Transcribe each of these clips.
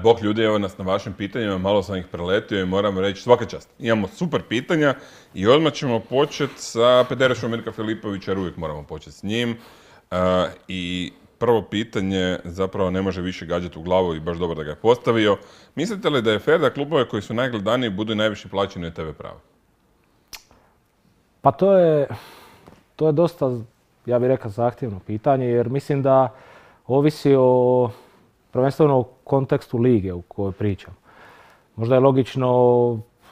Bog ljudi, evo nas na vašim pitanjima, malo sam ih preletio i moram reći svaka čast. Imamo super pitanja i odmah ćemo početi sa Pederešom Mirka Filipovića, jer uvijek moramo početi s njim. I prvo pitanje zapravo ne može više gađati u glavu i baš dobro da ga je postavio. Mislite li da je fair da klubove koji su najgledaniji budu najviše plaćeni od TV prava? Pa to je dosta, ja bih rekao, zahtjevno pitanje, jer mislim da ovisi o prvenstveno u kontekstu lige u kojoj pričam. Možda je logično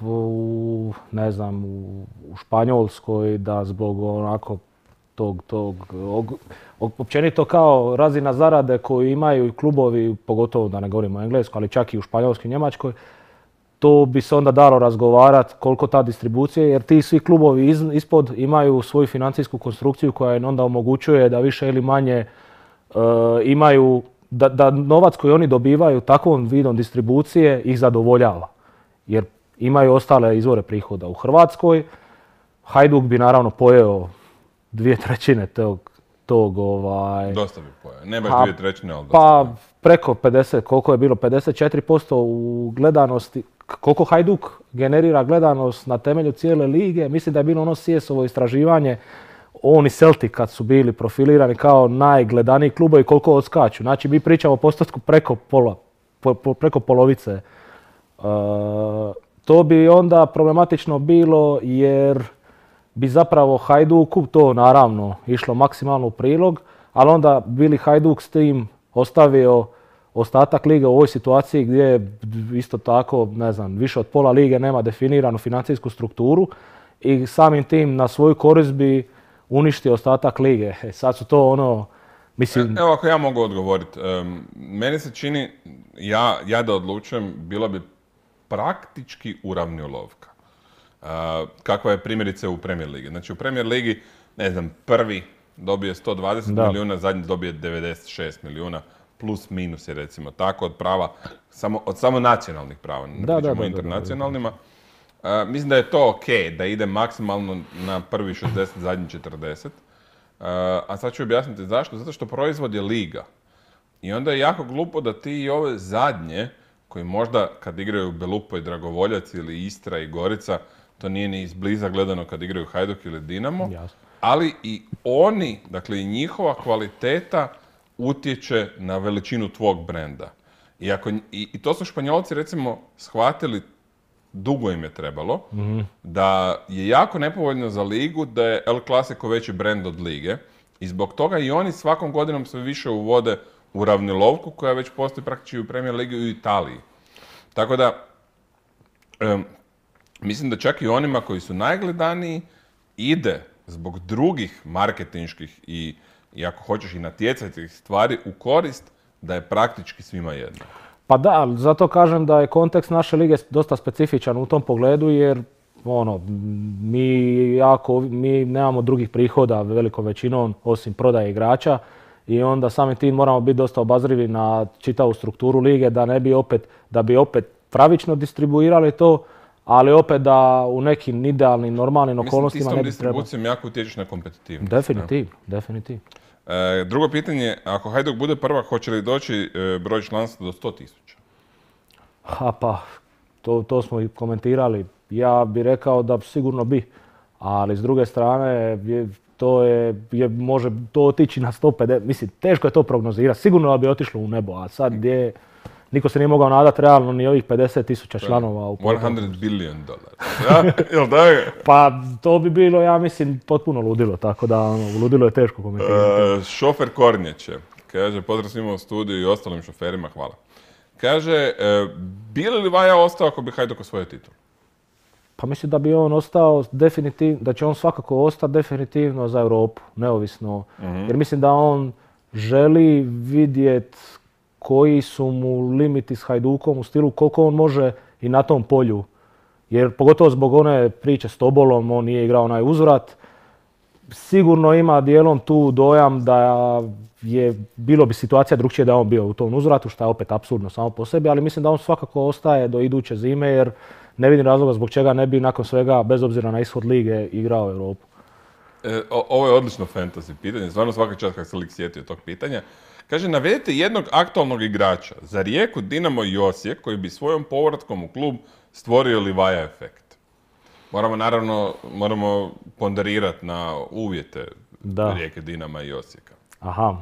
u Španjolskoj da zbog onako općenito kao razina zarade koju imaju i klubovi, pogotovo da ne govorimo o Engleskoj, ali čak i u Španjolskoj i Njemačkoj, to bi se onda dalo razgovarati koliko ta distribucija, jer ti svi klubovi ispod imaju svoju financijsku konstrukciju koja im onda omogućuje da više ili manje imaju, da novac koji oni dobivaju takvom vidom distribucije ih zadovoljava. Jer imaju ostale izvore prihoda. U Hrvatskoj Hajduk bi naravno pojeo 2/3 tog Dosta bi pojeo. Ne baš 2/3, ali dosta. Pa preko 50, koliko je bilo? 54% u gledanosti. Koliko Hajduk generira gledanost na temelju cijele lige. Mislim da je bilo ono CS-ovo istraživanje. On i Celtic kad su bili profilirani kao najgledaniji klubovi, koliko odskaču. Znači mi pričamo o postotku preko polovice. To bi onda problematično bilo jer bi zapravo Hajduku to naravno išlo maksimalno u prilog, ali onda bili Hajduk s tim ostavio ostatak lige u ovoj situaciji gdje isto tako, ne znam, više od pola lige nema definiranu financijsku strukturu i samim tim na svoju korist bi uništio ostatak lige. Sad su to ono, mislim... Evo ako ja mogu odgovoriti. Meni se čini, ja da odlučujem, bila bi praktički uravnilovka. Kakva je primjerice u Premier Ligi. Znači u Premier Ligi, ne znam, prvi dobije 120 milijuna, zadnji dobije 96 milijuna, plus minus je recimo tako od prava, od samo nacionalnih prava, ne pričamo o internacionalnima. Mislim da je to ok, da ide maksimalno na prvi 60, zadnji 40. A sad ću objasniti zašto. Zato što proizvod je liga. I onda je jako glupo da ti i ove zadnje, koji možda kad igraju Belupo i Dragovoljac ili Istra i Gorica, to nije ni izbliza gledano kad igraju Hajduk ili Dinamo, ali i oni, dakle i njihova kvaliteta utječe na veličinu tvog brenda. I to su Španjolci recimo shvatili, dugo im je trebalo, da je jako nepovoljno za ligu da je El Clasico veći brend od lige i zbog toga i oni svakom godinom sve više uvode u ravnilovku koja već postoji praktički u Premier Ligi i u Italiji. Tako da, mislim da čak i onima koji su najgledaniji ide zbog drugih marketinških i ako hoćeš i natjecateljskih stvari u korist da je praktički svima jedno. Pa da, zato kažem da je kontekst naše lige dosta specifičan u tom pogledu jer mi nemamo drugih prihoda velikom većinom osim prodaje igrača i onda samim tim moramo biti dosta obazrivi na čitavu strukturu lige da bi opet pravično distribuirali to, ali opet da u nekim idealnim, normalnim okolnostima ne bi trebalo. Mislim, ti s tom distribucijom jako utječeš na kompetitivnost. Definitivno. Drugo pitanje, ako Hajduk bude prvak, hoće li doći broj članstva do 100.000? Pa, to smo i komentirali. Ja bih rekao da sigurno bi, ali s druge strane može to otići na 150. Mislim, teško je to prognozirati. Sigurno da bi otišlo u nebo, a sad gdje niko se nije mogao nadati realno ni ovih 50.000 članova u $100 billion. Ja? Jel da je? Pa to bi bilo, ja mislim, potpuno ludilo, tako da ludilo je teško komentirati. Šofer Kornjeće, kaže, pozdrav svima u studiju i ostalim šoferima, hvala. Kaže, bi li Vaja ostao ako bi Hajduk osvojio titul? Pa mislim da bi on ostao definitivno, da će on svakako ostati definitivno za Europu, neovisno. Jer mislim da on želi vidjeti koji su mu limiti s Hajdukom u stilu koliko on može i na tom polju. Jer pogotovo zbog one priče s Tobolom, on nije igrao onaj uzvrat. Sigurno ima dijelom tu dojam da bilo bi situacija drukčije da on bio u tom uzvratu, što je opet apsurdno samo po sebi, ali mislim da on svakako ostaje do iduće zime jer ne vidim razloga zbog čega ne bi nakon svega, bez obzira na ishod lige, igrao Europu. Ovo je odlično fantasy pitanje, stvarno svaka čast kako se lik sjetio tog pitanja. Kaže, navedite jednog aktualnog igrača za Rijeku, Dinamo i Osijek koji bi svojom povratkom u klub stvorio Livaja efekt. Moramo ponderirati na uvjete Rijeke, Dinama i Osijeka. Aha,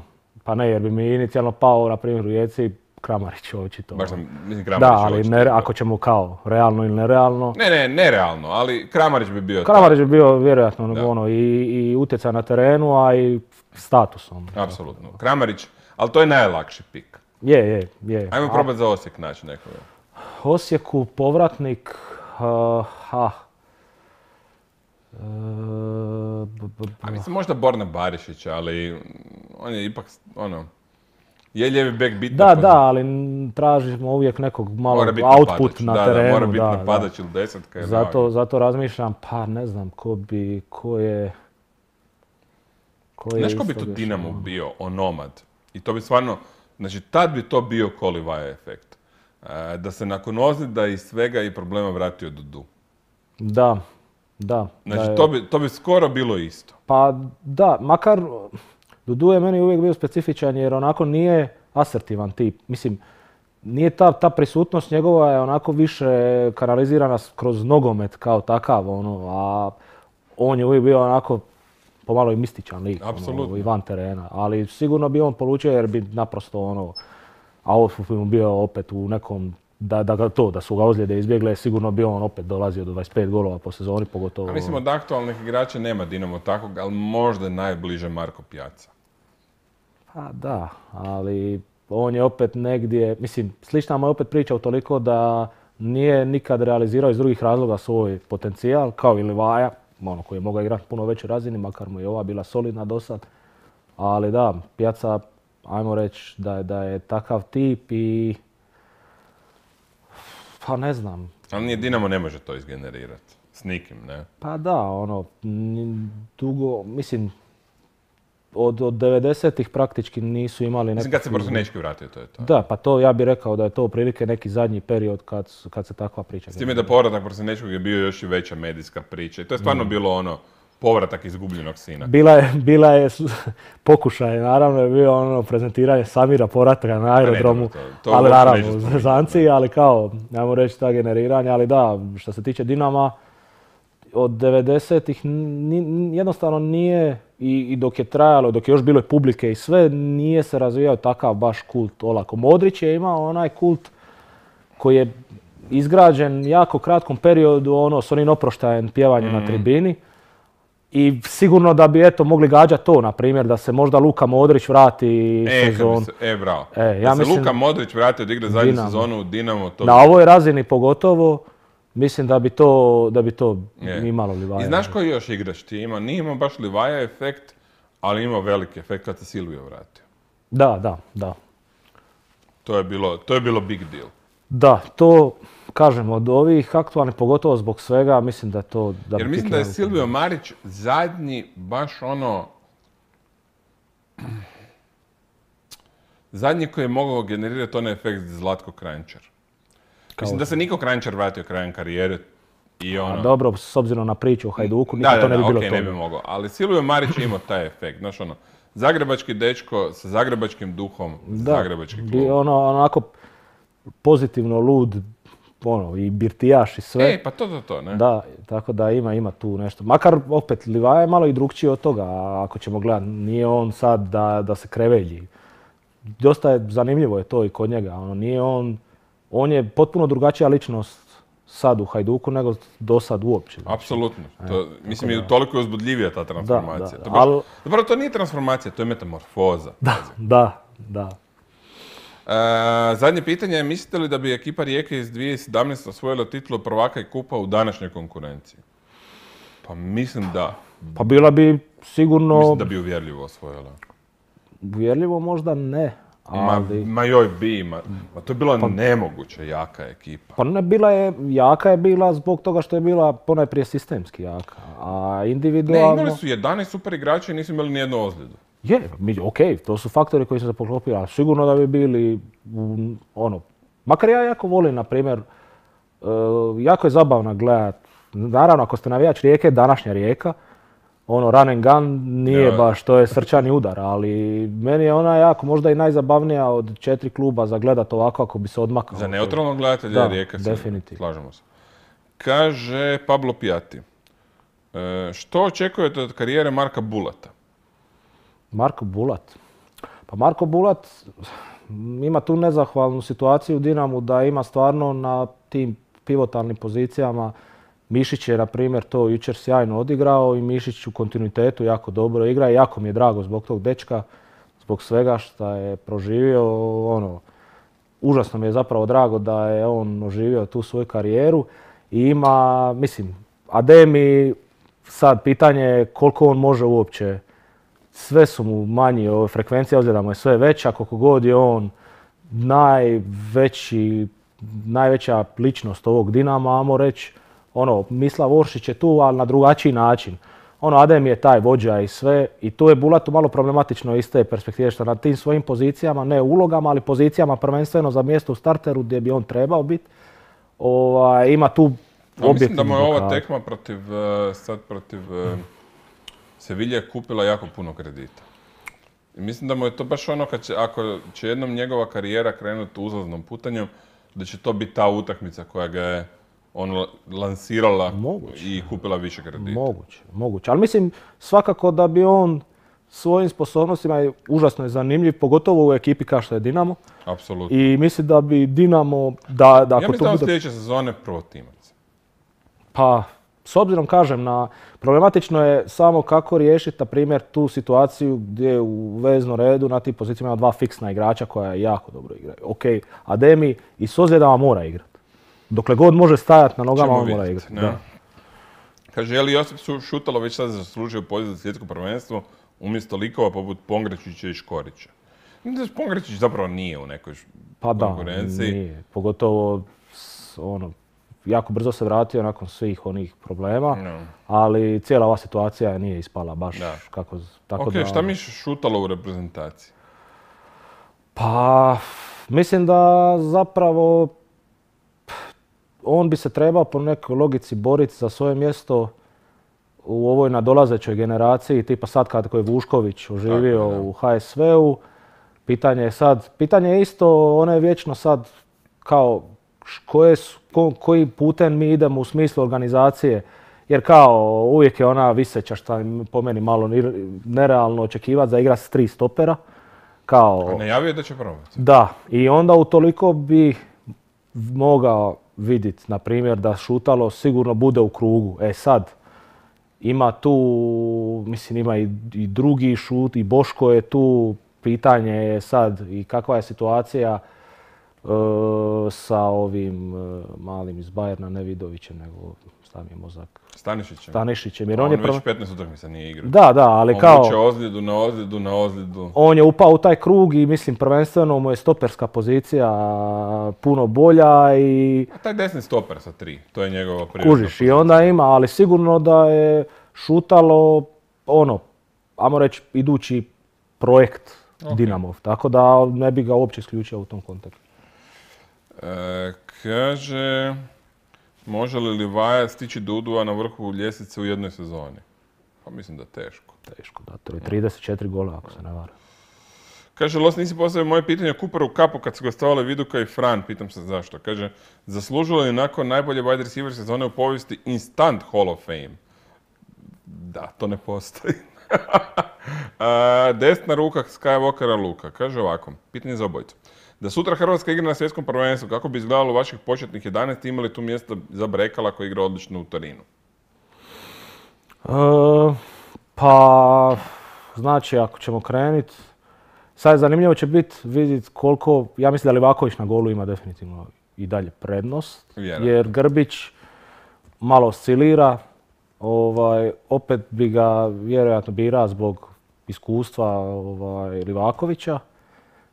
pa ne, jer bi mi inicijalno pao, na primjer, u Rijeci Kramarić očito. Baš mislim Kramarić da, ali ako ćemo kao realno ili nerealno. Ne, nerealno, ali Kramarić bi bio Kramarić bi bio vjerojatno i utjecaj na terenu, a i statusom. Apsolutno. Kramarić, ali to je najlakši pik. Je. Ajmo probati za Osijek naći nekoga. Osijeku povratnik, mislim možda Borna Barišića, ali on je ipak je lijevi bek bitno. Da, ali tražimo uvijek nekog malo output na terenu. Mora biti napadač ili desetka. Zato razmišljam, pa ne znam ko je... Znaš ko bi to Dinamo bio, onomad? I to bi stvarno, znači tad bi to bio ko Livaja efekt. Da se nakon ozljeda i svega i problema vratio Dudu. Da. Znači to bi skoro bilo isto. Pa da, makar Dudu je meni uvijek bio specifičan jer onako nije asertivan tip. Mislim, nije ta prisutnost njegova je onako više kanalizirana kroz nogomet kao takav, a on je uvijek bio onako pomalo i mističan lik, i van terena. Ali sigurno bi on polučio jer bi naprosto a ovo bi mu bio opet u nekom, da su ga ozljede izbjegle, sigurno bi on opet dolazio do 25 golova po sezoni, pogotovo. A mislim od aktualnih igrača nema Dinamo takvog, ali možda najbliže Marko Pjaca. Pa da, ali on je opet negdje, mislim, slična mu je opet priča utoliko da nije nikad realizirao iz drugih razloga svoj potencijal, kao i Livaja, koji je mogao igrati puno većoj razini, makar mu je ova bila solidna do sad. Ali da, Pjaca, ajmo reći da je takav tip i... Pa ne znam. Ali nije Dinamo ne može to izgenerirati. S nikim, ne? Pa da, dugo, mislim, od 90-ih praktički nisu imali nekakvu... Mislim, kad se Brzinečki vratio, to je to. Da, pa to ja bih rekao da je to prilike neki zadnji period kad se takva priča. S time da povratak Brzinečkog je bio još i veća medijska priča. I to je stvarno bilo povratak izgubljenog sina. Bila je pokušaj, naravno je bio prezentiranje Samira povrataka na aerodromu, ali naravno u zezanci, ali kao, ajmo reći ta generiranja, ali da, što se tiče Dinama, od 90-ih jednostavno nije, i dok je trajalo, dok je još bilo publike i sve, nije se razvijao takav baš kult olako. Modrić je imao onaj kult koji je izgrađen jako kratkom periodu, s onim oproštajem pjevanjem na tribini. I sigurno da bi mogli gađati to, na primjer, da se možda Luka Modrić vrati sezonu. Bravo. Da se Luka Modrić vrati od igre zadnju sezonu u Dinamo. Na ovoj razini pogotovo, mislim da bi to imalo Livaja. I znaš koji još igrač ti ima? Nije imao baš Livaja efekt, ali imao veliki efekt kad se Silvio vratio. Da. To je bilo big deal. Da, to... Kažem, od ovih aktualnih, pogotovo zbog svega, mislim da je to... Jer mislim da je Silvio Marić zadnji baš zadnji koji je mogao generirati onaj efekt Zlatko Kranjčar. Mislim da se Niko Kranjčar vratio krajem karijere i dobro, s obzirom na priču o Hajduku, to ne bi bilo to. Ne bi mogao, ali Silvio Marić je imao taj efekt, znaš zagrebački dečko sa zagrebačkim duhom, zagrebački klub. Onako pozitivno lud, i birtijaš i sve. Pa to, ne? Da, tako da ima tu nešto. Makar opet Livaja je malo i drukčiji od toga, ako ćemo gledati. Nije on sad da se krevelji. Dosta je zanimljivo je to i kod njega. On je potpuno drugačija ličnost sad u Hajduku nego do sad uopće. Apsolutno. Mislim, i toliko je uzbudljivija ta transformacija. Dobro, to nije transformacija, to je metamorfoza. Da. Zadnje pitanje je, mislite li da bi ekipa Rijeke iz 2017. osvojila titulu prvaka i kupa u današnjoj konkurenciji? Pa mislim da. Pa bila bi sigurno... Mislim da bi uvjerljivo osvojila. Uvjerljivo možda ne, ali... To je bila nemoguće jaka ekipa. Pa ne, jaka je bila zbog toga što je bila ponajprije sistemski jaka, a individualno... Ne, imali su 11 super igrača i nisu imali nijednu ozljedu. To su faktori koji su se poklopili, ali sigurno da bi bili makar ja jako volim, na primjer, jako je zabavno gledat, naravno ako ste navijač Rijeke, današnja Rijeka, ono run and gun nije baš, to je srčani udar, ali meni je ona jako možda i najzabavnija od 4 kluba za gledat ovako ako bi se odmakao. Za neutralnog gledatelja Rijeka, definitivno. Slažemo se. Kaže Pablo Piatti, što očekujete od karijere Marka Bulata? Marko Bulat? Pa Marko Bulat ima tu nezahvalnu situaciju u Dinamu da ima stvarno na tim pivotalnim pozicijama. Mišić je, na primjer, to jučer sjajno odigrao i Mišić u kontinuitetu jako dobro igra i jako mi je drago zbog tog dečka, zbog svega što je proživio. Užasno mi je zapravo drago da je on oživio tu svoju karijeru i ima, mislim, Ademi, sad pitanje je koliko on može uopće. Sve su mu manji, frekvencija ozljeda mu je sve veća, koliko god je on najveća ličnost ovog Dinama, ajmo reći. Mislav Oršić je tu, ali na drugačiji način. Adem je taj vođa i sve i tu je Bulatu malo problematično iz te perspektive što na tim svojim pozicijama, ne ulogama, ali pozicijama prvenstveno za mjesto u starteru gdje bi on trebao biti. Ima tu objektivnu mislim da mu je ova tekma protiv Sevilje kupila jako puno kredita. I mislim da mu je to baš ono ako će jednom njegova karijera krenuti uzlaznom putanjem, da će to biti ta utakmica koja ga je lansirala i kupila više kredita. Moguće. Ali mislim svakako da bi on svojim sposobnostima, užasno je zanimljiv, pogotovo u ekipi kao što je Dinamo. Apsolutno. I mislim da bi Dinamo... Ja mislim da sljedeće sezone prvotimac. Pa, s obzirom, kažem, problematično je samo kako riješiti, na primjer, tu situaciju gdje u veznom redu na tim pozicijama ima 2 fiksna igrača koja jako dobro igraju. Ok, Ademi i s ozljedama mora igrati. Dokle god može stajati na nogama, on mora igrati. Kaže, je li Josip Šutalo već sad zaslužio poziv za svjetsko prvenstvo umjesto likova poput Pongrečića i Škorića? Mislim da Pongrečić zapravo nije u nekoj konkurenciji. Pa da, nije. Pogotovo jako brzo se vratio nakon svih onih problema, ali cijela ova situacija nije ispala baš kako... Ok, šta misliš Šutalo u reprezentaciji? Pa, mislim da zapravo on bi se trebao po nekoj logici boriti za svoje mjesto u ovoj nadolazećoj generaciji, tipa sad kad je Vušković oživio u HSV-u. Pitanje je isto, ono je vječno sad kao koji putem mi idemo u smislu organizacije, jer kao uvijek je ona viseća što je po meni malo nerealno očekivati za igrati s 3 stopera. A najavio da će probati. Da, i onda utoliko bi mogao vidjeti, na primjer, da Šutalo sigurno bude u krugu. Sad, ima tu, mislim, ima i drugi šut, i Boško je tu, pitanje je sad i kakva je situacija sa ovim malim iz Bajerna, ne Vidovićem, nego stavi mozak. Stanišićem. Jer on već 15 utakmica nije igrao. Da, ali on kao... On vuče ozljedu. On je upao u taj krug i mislim prvenstveno mu je stoperska pozicija puno bolja i... A taj desni stoper sa 3, to je njegova prirodna pozicija. Kužiš, i onda ima, ali sigurno da je Šutalo, ajmo reći, idući projekt Dinamov. Tako da ne bi ga uopće isključio u tom kontekstu. Kaže... Može li Livaja stići do udua na vrhu ljestvice u jednoj sezoni? Pa mislim da teško. Teško, da. To je 34 gola, ako se ne varam. Kaže, Los, nisi postavio moje pitanje o Cooperu Cupu kad su gostovali Viduka i Fran. Pitam se zašto. Kaže, zaslužilo li nakon najbolje wide receiver sezone u povijesti instant Hall of Fame? Da, to ne postoji. Desna ruka Skywalkera Luka. Kaže ovako, pitanje za obojicu. Da sutra Hrvatska igra na svjetskom prvenstvu, kako bi izgledalo vaših početnih 11, imali tu mjesto za Brekala koji igra odlično u Torinu? Pa, znači, ako ćemo krenuti, sad zanimljivo će biti vidjeti koliko, ja mislim da Livaković na golu ima definitivno i dalje prednost, jer Grbić malo oscilira, opet bi ga vjerojatno birao zbog iskustva Livakovića.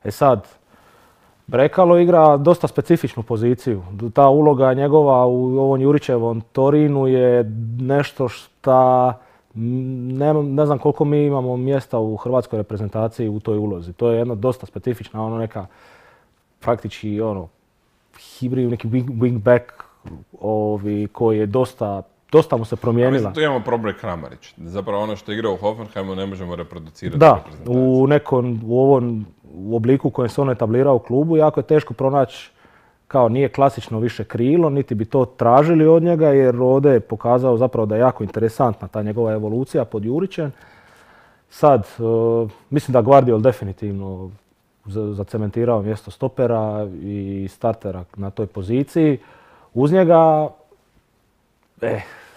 Sad, Brekalo igra dosta specifičnu poziciju. Ta uloga njegova u ovom Jurićevom Torinu je nešto što ne znam koliko mi imamo mjesta u hrvatskoj reprezentaciji u toj ulozi. To je jedna dosta specifična, neka praktički hibrid, neki wingback koji je dosta dosta mu se promijenila. Mislim, tu imamo problem Kramarić. Zapravo ono što igra u Hoffenheimu ne možemo reproducirati. Da, u ovom obliku u kojem se on etablirao u klubu jako je teško pronaći, kao nije klasično više krilo, niti bi to tražili od njega, jer ovdje je pokazao zapravo da je jako interesantna ta njegova evolucija pod Jurićem. Sad, mislim da Gvardiol definitivno zacementirao mjesto stopera i startera na toj poziciji. Uz njega,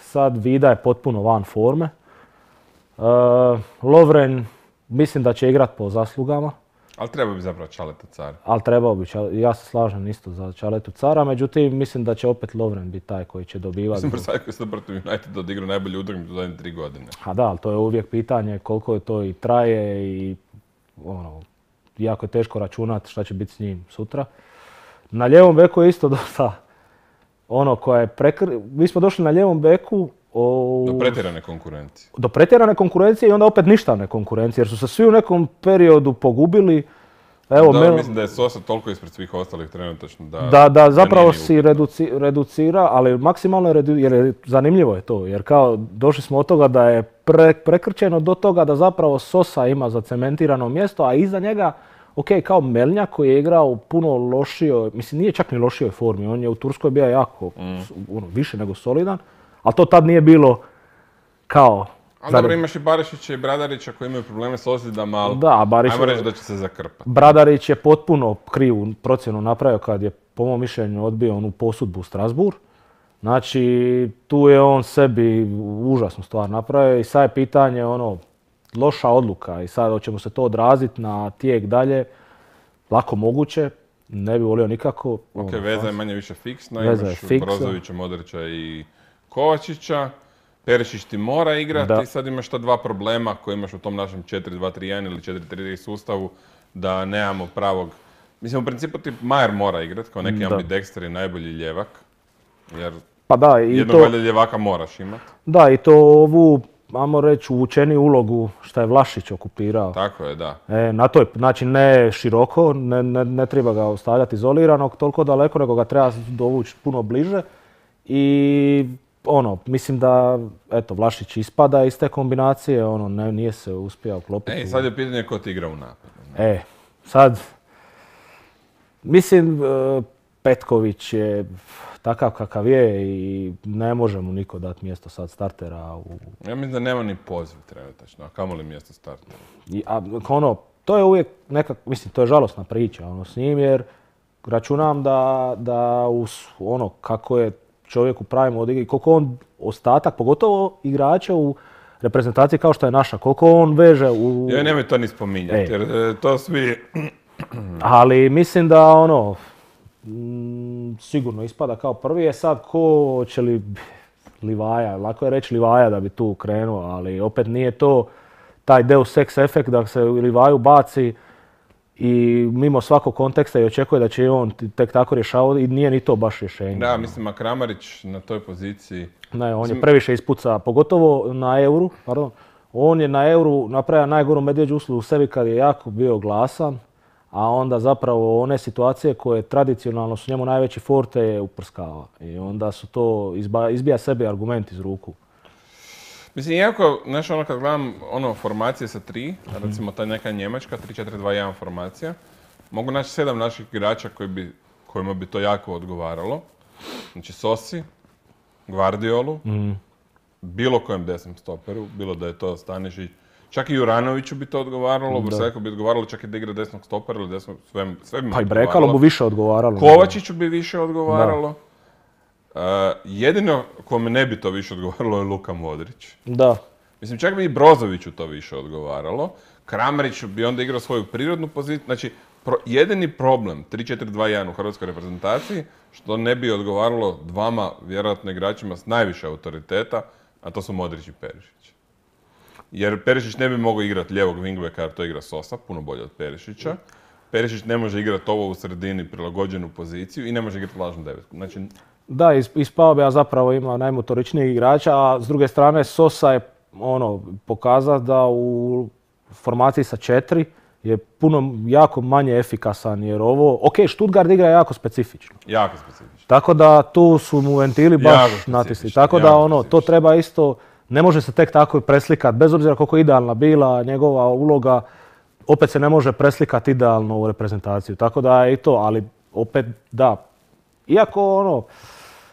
sad Vida je potpuno van forme. Lovren mislim da će igrat po zaslugama. Ali treba bi zapravo Čaletu Car. Ali trebao bi, ja se slažem isto za Čaletu Cara, međutim mislim da će opet Lovren biti taj koji će dobivati. Mislim Brsajko se protiv United odigrao najbolju utakmicu u zadnje 3 godine. A da, ali to je uvijek pitanje koliko je to i traje i jako je teško računati šta će biti s njim sutra. Na lijevom beku je isto dosta mi smo došli na lijevom beku do pretjerane konkurencije. Do pretjerane konkurencije i onda opet ništavne konkurencije, jer su se svi u nekom periodu pogubili. Mislim da je Sosa toliko ispred svih ostalih trenutačno da zapravo si reducira, ali maksimalno jer zanimljivo je to, jer kao došli smo od toga da je prekrčeno do toga da zapravo Sosa ima zacementirano mjesto, a iza njega kao Melnjak koji je igrao u puno lošijoj, mislim nije čak ni lošijoj formi, on je u Turskoj bio jako više nego solidan, ali to tad nije bilo kao... Ali dobro, imaš i Barišića i Bradarića koji imaju probleme s ozljedama, ali ajmo reći da će se zakrpati. Bradarić je potpuno krivu procjenu napravio kad je, po mom mišljenju, odbio onu posudbu u Strasbourg. Znači, tu je on sebi užasnu stvar napravio i sad je pitanje loša odluka i sad hoće mu se to odraziti na tijek dalje. Lako moguće, ne bi volio nikako. Ok, veza je manje više fiksna, imaš Brozovića, Modrića i Kovačića. Perišić ti mora igrati i sad imaš ta dva problema koje imaš u tom našem 4-2-3-1 ili 4-3-3 sustavu, da nemamo pravog... Mislim, u principu ti Majer mora igrati kao neki ambidexter i najbolji ljevak, jer jednog valjda ljevaka moraš imati. Da, i to ovu, ajmo reći, uvučeniju ulogu što je Vlašić okupirao. Tako je, da. Na toj, znači ne široko, ne treba ga ostavljati izoliranog toliko daleko, nego ga treba dovući puno bliže i... mislim da, Vlašić ispada iz te kombinacije, nije se uspio uklopiti. Sad je pitanje ko ti igra u napadu. Sad, mislim, Petković je takav kakav je i ne može mu niko dati mjesto sad startera. Ja mislim da nema ni poziv trenutačno, a kamoli mjesto startera. To je uvijek mislim, to je žalosna priča s njim, jer računam da kako je čovjek u pravim odigri, koliko on ostatak, pogotovo igrača u reprezentaciji kao što je naša, koliko on veže u... Nemoj to ni spominjati, jer to svi... Ali mislim da sigurno ispada kao prvi, je sad ko će li Livaja, lako je reći Livaja da bi tu krenuo, ali opet nije to taj deus ex efekt da se Livaju baci i mimo svakog konteksta i očekuje da će on tek tako rješavati i nije ni to baš rješenje. Da, mislim, a Kramarić na toj poziciji... Ne, on je previše ispuca, pogotovo na Euru, on je na Euru napravio najgoru medvjeđu uslugu u sebi kad je jako bio glasan, a onda zapravo one situacije koje tradicionalno su njemu najveći forte je uprskava. I onda su to, izbija sebi argument iz ruku. Mislim, iako, kad gledam formacije sa 3, recimo ta neka njemačka, 3-4-2-1 formacija, mogu naći 7 naših igrača kojima bi to jako odgovaralo. Znači Sosi, Gvardiolu, bilo kojem desnom stoperu, bilo da je to Stanišić, čak i Juranoviću bi to odgovaralo, Brsajko bi odgovaralo čak i da igra desnog stopera ili desnog, sve bi mu odgovaralo. Pa i Brekalo bi više odgovaralo. Kovačiću bi više odgovaralo. Jedino kome ne bi to više odgovaralo je Luka Modrić. Da. Mislim, čak bi i Brozoviću to više odgovaralo. Kramarić bi onda igrao svoju prirodnu poziciju. Znači, jedini problem 3-4-2-1 u hrvatskoj reprezentaciji, što ne bi odgovaralo dvama vjerojatno igračima s najviše autoriteta, a to su Modrić i Perišić. Jer Perišić ne bi mogao igrati lijevog wingbacka, jer to igra Sosa, puno bolje od Perišića. Perišić ne može igrati ovo u sredini prilagođenu poziciju i ne može igrati lažnu devetku. Znači, da, ispao bi, a zapravo ima najmotoričnijeg igrača, a s druge strane Sosa je pokazao da u formaciji sa 4 je puno jako manje efikasan jer ovo, ok, Stuttgart igra jako specifično. Jako specifično. Tako da tu su mu ventili baš natisli. Tako da to treba isto, ne može se tek tako preslikati, bez obzira koliko je idealna bila njegova uloga, opet se ne može preslikati idealno u reprezentaciju. Tako da je i to, ali opet da. Iako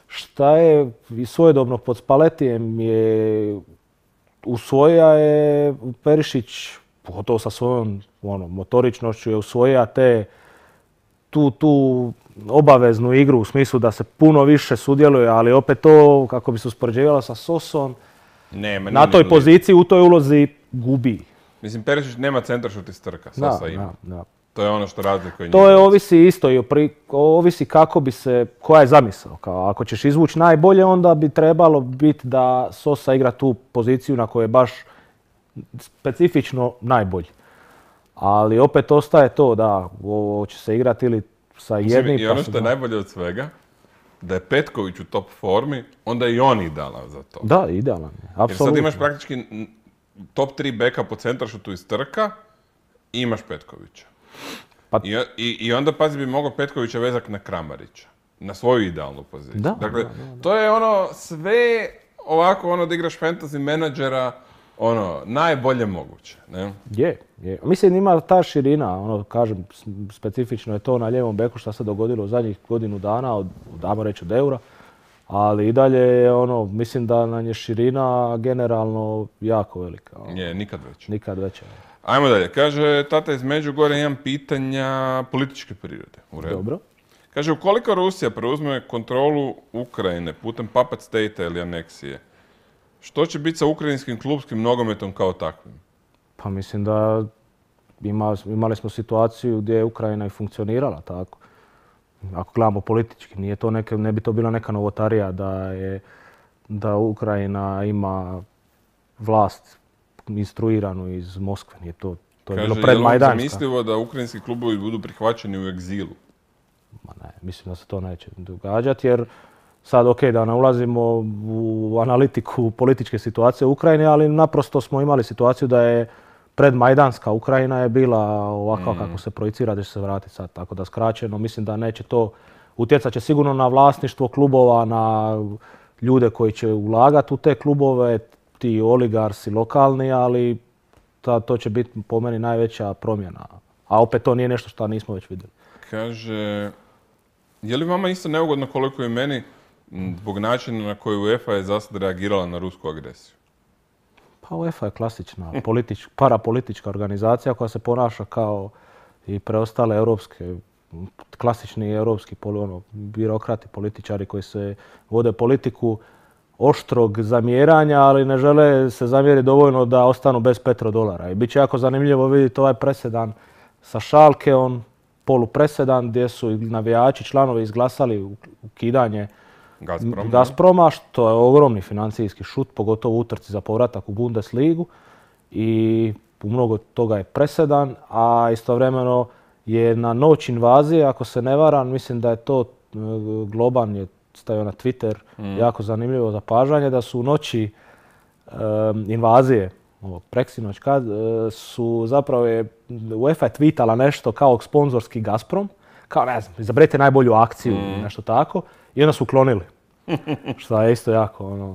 šta je i svojedobno pod Spaletijem je usvoja je Perišić, pogotovo sa svojom motoričnošću je usvoja tu obaveznu igru u smislu da se puno više sudjeluje, ali opet to kako bi se uspoređivalo sa Sosom, na toj poziciji, u toj ulozi gubi. Mislim, Perišić nema centaršut iz trka, Sosa ima. Da. To je ono što razlikuje njih. To je ovisi isto i ovisi kako bi se, koja je zamisao. Kao ako ćeš izvući najbolje, onda bi trebalo biti da Sosa igra tu poziciju na kojoj je baš specifično najbolji. Ali opet ostaje to da ovo će se igrati ili sa jednim... I ono što je najbolje od svega, da je Petković u top formi, onda je i on idealan za to. Da, idealan je, apsolutno. Jer sad imaš praktički top 3 beka po centaršutu iz trka i imaš Petkovića. I onda, pazi, bi mogao Petkovića vezati na Kramarića. Na svoju idealnu poziciju. Dakle, to je sve ovako da igraš fantasy menadžera najbolje moguće. Ne? Je. Mislim ima ta širina, kažem, specifično je to na lijevom beku što se dogodilo u zadnjih godinu dana, damo reći od Eura. Ali i dalje je mislim da nam je širina generalno jako velika. Je, nikad veća. Nikad veća. Ajmo dalje. Kaže tata iz Međugorja, imam pitanja političke prirode. U redu. Dobro. Kaže, ukoliko Rusija preuzme kontrolu Ukrajine putem puppet state ili aneksije, što će biti sa ukrajinskim klubskim nogometom kao takvim? Pa mislim da imali smo situaciju gdje je Ukrajina i funkcionirala tako. Ako gledamo politički, ne bi to bila neka novotarija da Ukrajina ima vlast instruiranu iz Moskve. To je bilo predmajdanska. Kaže, je li zamislivo da ukrajinski klubovi budu prihvaćeni u egzilu? Ma ne, mislim da se to neće događati jer sad da ne ulazimo u analitiku političke situacije u Ukrajini, ali naprosto smo imali situaciju da je predmajdanska Ukrajina je bila ovakva kako se projicira da će se vratiti sad. Tako da skraćeno mislim da neće to utjecat će sigurno na vlasništvo klubova, na ljude koji će ulagati u te klubove, ti oligarsi lokalni, ali to će biti po meni najveća promjena. A opet to nije nešto što nismo već vidjeli. Kaže, je li vama isto neugodno koliko je meni zbog načina na koji UEFA je zasad reagirala na rusku agresiju? Pa UEFA je klasična parapolitička organizacija koja se ponaša kao i preostale klasični europski birokrati, političari koji se vode politiku oštrog zamjeranja, ali ne žele se zamjeriti dovoljno da ostanu bez petrodolara. I bit će jako zanimljivo vidjeti ovaj presedan sa Schalkeom, polupresedan gdje su navijači, članovi izglasali ukidanje Gazproma, što je ogromni financijski šut, pogotovo u utrci za povratak u Bundesligu. I u mnogo toga je presedan, a istovremeno je na noć invazije, ako se ne varam, mislim da je to Globan je stavio na Twitter, jako zanimljivo zapažanje, da su u noći invazije, preksinoć, kad su zapravo UEFA je tweetala nešto kao sponzorski Gazprom, kao ne znam, izaberite najbolju akciju, nešto tako, i onda su uklonili. Što je isto jako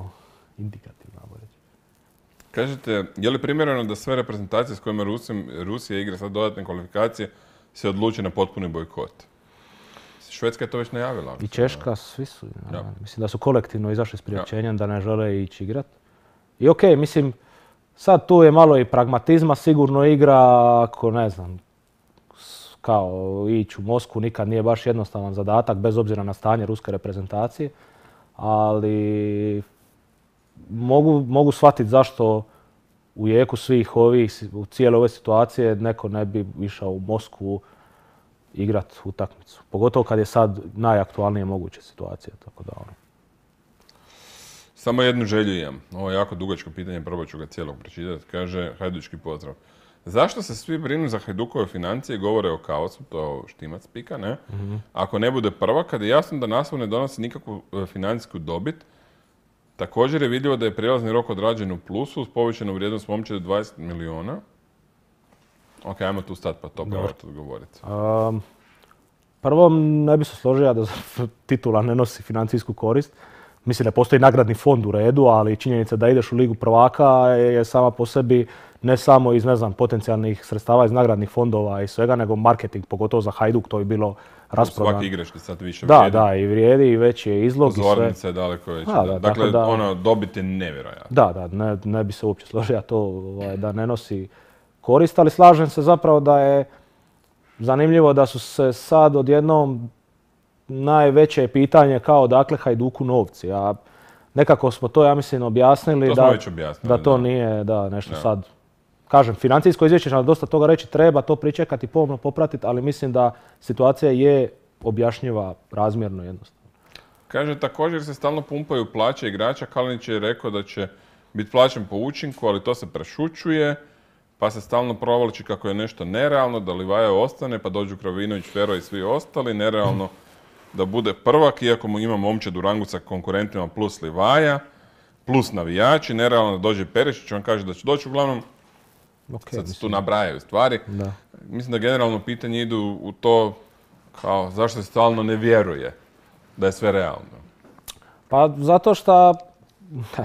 indikativno. Kažete, je li primjereno da sve reprezentacije s kojima Rusija igra sad dodatne kvalifikacije se odluče na potpuni bojkot? Švedska je to već najavila. I Češka, svi su. Ja. Mislim da su kolektivno izašli s priopćenjem da ne žele ići igrat. I mislim, sad tu je malo i pragmatizma, sigurno igra, ako ne znam, kao ići u Moskvu nikad nije baš jednostavan zadatak, bez obzira na stanje ruske reprezentacije. Ali mogu shvatiti zašto u jeku svih u cijele ove situacije neko ne bi išao u Moskvu igrat utakmicu. Pogotovo kad je sad najaktualnije moguća situacija. Tako da, Samo jednu želju imam. Ovo je jako dugačko pitanje, probat ću ga cijelog pročitati. Kaže, hajdučki pozdrav. Zašto se svi brinu za Hajdukove financije i govore o kaosu, to Štimac pika, ne? Ako ne bude prva, kad je jasno da naslov ne donosi nikakvu financijsku dobit, također je vidljivo da je prijelazni rok odrađen u plusu uz povećanu vrijednost momčadi 20 milijuna. Ok, ajmo tu stati pa to probati odgovoriti. Prvo, ne bi se složio da titula ne nosi financijsku korist. Mislim da postoji nagradni fond u redu, ali činjenica da ideš u Ligu prvaka je sama po sebi ne samo iz, ne znam, potencijalnih sredstava iz nagradnih fondova i svega, nego marketing, pogotovo za Hajduk, to je bilo rasprodano. Svaki igrač sad više vrijedi. Da, i vrijedi i veći je izlog i sve. Pozornica je daleko veća. Dakle, dobit je nevjerojatno. Da, ne bi se uopće složio to da ne nosi korist, ali slažem se zapravo da je zanimljivo da su se sad odjednom najveće pitanje kao dakle Hajduku novci. A nekako smo to, ja mislim, objasnili. Da to nije nešto sad. Kažem, financijsko izvješće će nam dosta toga reći, treba to pričekati, pomno popratiti, ali mislim da situacija je objašnjiva razmjerno jednostavno. Kaže, također se stalno pumpaju plaće igrača. Kalinić je rekao da će biti plaćen po učinku, ali to se prešućuje. Pa se stalno provlači kako je nešto nerealno, da Livaja ostane, pa dođu Krovinović, Fero i svi ostali. Nerealno da bude prvak, iako mu ima momčad u rangu sa konkurentima plus Livaja, plus navijači. Nerealno da dođe Perišić, on kaže da će doći uglavnom. Sad se tu nabrajaju stvari. Da. Mislim da generalno pitanje idu u to kao zašto se stalno ne vjeruje da je sve realno. Pa zato što,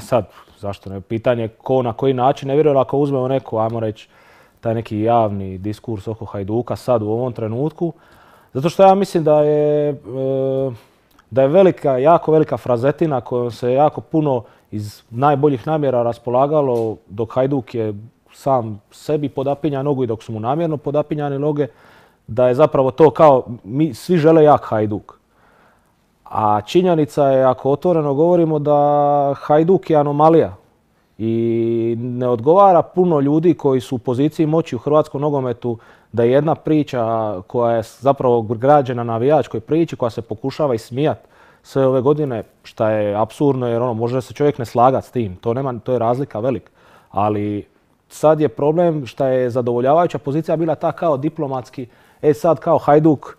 sad, zašto ne, pitanje ko na koji način ne vjeruje, ako uzmemo neku, ajmo reći, taj neki javni diskurs oko Hajduka sad u ovom trenutku, zato što ja mislim da je velika, jako velika frazetina kojom se jako puno iz najboljih namjera raspolagalo dok Hajduk je sam sebi podapinja nogu i dok su mu namjerno podapinjane noge, da je zapravo to kao mi svi žele jak Hajduk. A činjenica je, ako otvoreno govorimo, da Hajduk je anomalija i ne odgovara puno ljudi koji su u poziciji moći u hrvatskom nogometu da je jedna priča koja je zapravo građena na navijačkoj priči, koja se pokušava ismijati sve ove godine, što je apsurdno jer može se čovjek ne slagati s tim, to je razlika velika. Ali sad je problem što je zadovoljavajuća pozicija bila ta kao diplomatski, sad kao Hajduk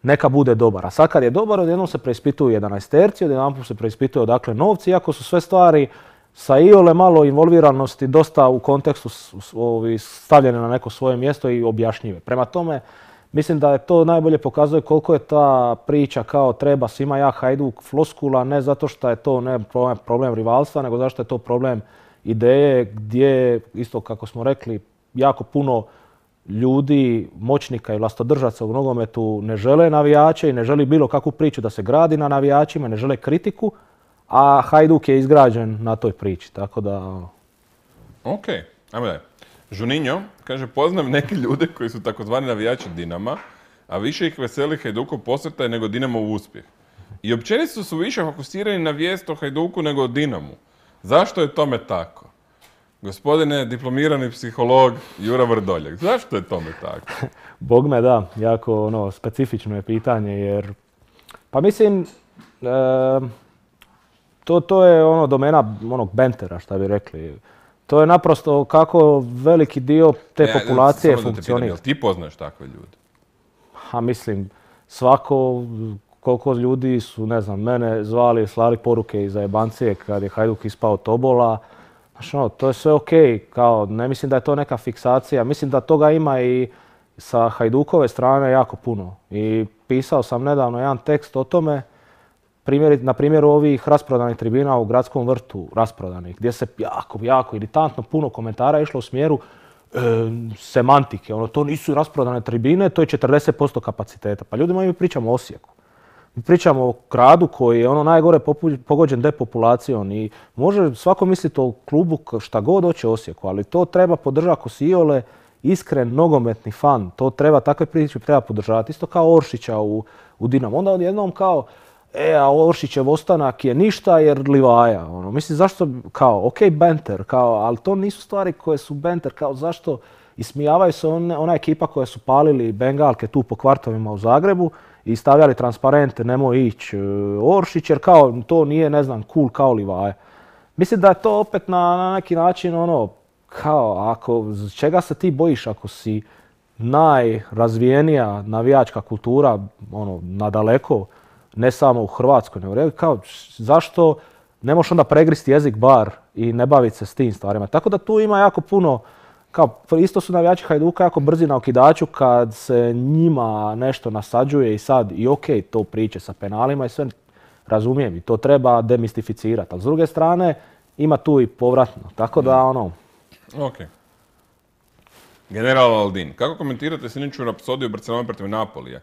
neka bude dobar. A sad kad je dobar, odjednom se preispituju 11-terci, odjedanput se preispituju odakle novci, iako su sve stvari sa iole malo involviranosti dosta u kontekstu stavljene na neko svoje mjesto i objašnjive. Prema tome, mislim da je to najbolje pokazuje koliko je ta priča kao treba svima jak Hajduk floskula, ne zato što je to problem rivalstva, nego zato što je to problem ideje gdje, isto kako smo rekli, jako puno ljudi, moćnika i vlastodržaca u nogometu ne žele navijače i ne želi bilo kakvu priču da se gradi na navijačima, ne žele kritiku, a Hajduk je izgrađen na toj priči, tako da... Ok, ajmo dalje. Juninho kaže, poznam neke ljude koji su takozvani navijači Dinama, a više ih veseli Hajdukov posrtaj nego Dinamov uspjeh. I općenito su više fokusirani na vijest o Hajduku nego o Dinamu. Zašto je tome tako? Gospodine diplomirani psiholog Jura Vrdoljak, zašto je tome tako? Bogme da, jako specifično je pitanje jer, pa mislim, to je domena onog bentera, šta bi rekli. To je naprosto kako veliki dio te populacije funkcionira. Jel ti poznaš takve ljude? Mislim, svako, koliko ljudi su, ne znam, mene zvali, slali poruke iz zajebancije kad je Hajduk ispao tobola. To je sve okej, kao ne mislim da je to neka fiksacija. Mislim da toga ima i sa Hajdukove strane jako puno. I pisao sam nedavno jedan tekst o tome, na primjeru ovih rasprodanih tribina u Gradskom vrtu, rasprodanih, gdje se jako iritantno puno komentara išlo u smjeru semantike. To nisu rasprodane tribine, to je 40% kapaciteta. Pa ljudi moji, mi pričamo o Osijeku. Mi pričamo o gradu koji je najgore pogođen depopulacijom i može svako misliti o klubu šta god hoće Osijeku, ali to treba podržati ako si iole iskren nogometni fan. To treba, takve priče treba podržavati. Isto kao Oršića u Dinamu. Onda odjednom kao, a Oršićev ostanak je ništa jer Livaja. Mislim, zašto, kao, ok, banter, ali to nisu stvari koje su banter, kao zašto ismijavaju se ona ekipa koja su palili bengalke tu po kvartovima u Zagrebu i stavljali transparente, nemoj ići Oršić, jer kao to nije, ne znam, cool kao Livaja. Mislim da je to opet na neki način kao, čega se ti bojiš ako si najrazvijenija navijačka kultura, nadaleko, ne samo u Hrvatskoj, nego kao, zašto ne možeš onda pregristi jezik bar i ne baviti se s tim stvarima. Tako da tu ima jako puno kao, isto su navijači Hajduka jako brzi na okidaču kad se njima nešto nasađuje i sad, i okej, to priče sa penalima i sve, razumijem i to treba demistificirati. Ali s druge strane, ima tu i povratno, tako da ono... Ok. General Aldin, kako komentirate sinoću rapsodiju Barcelona protiv Napolija?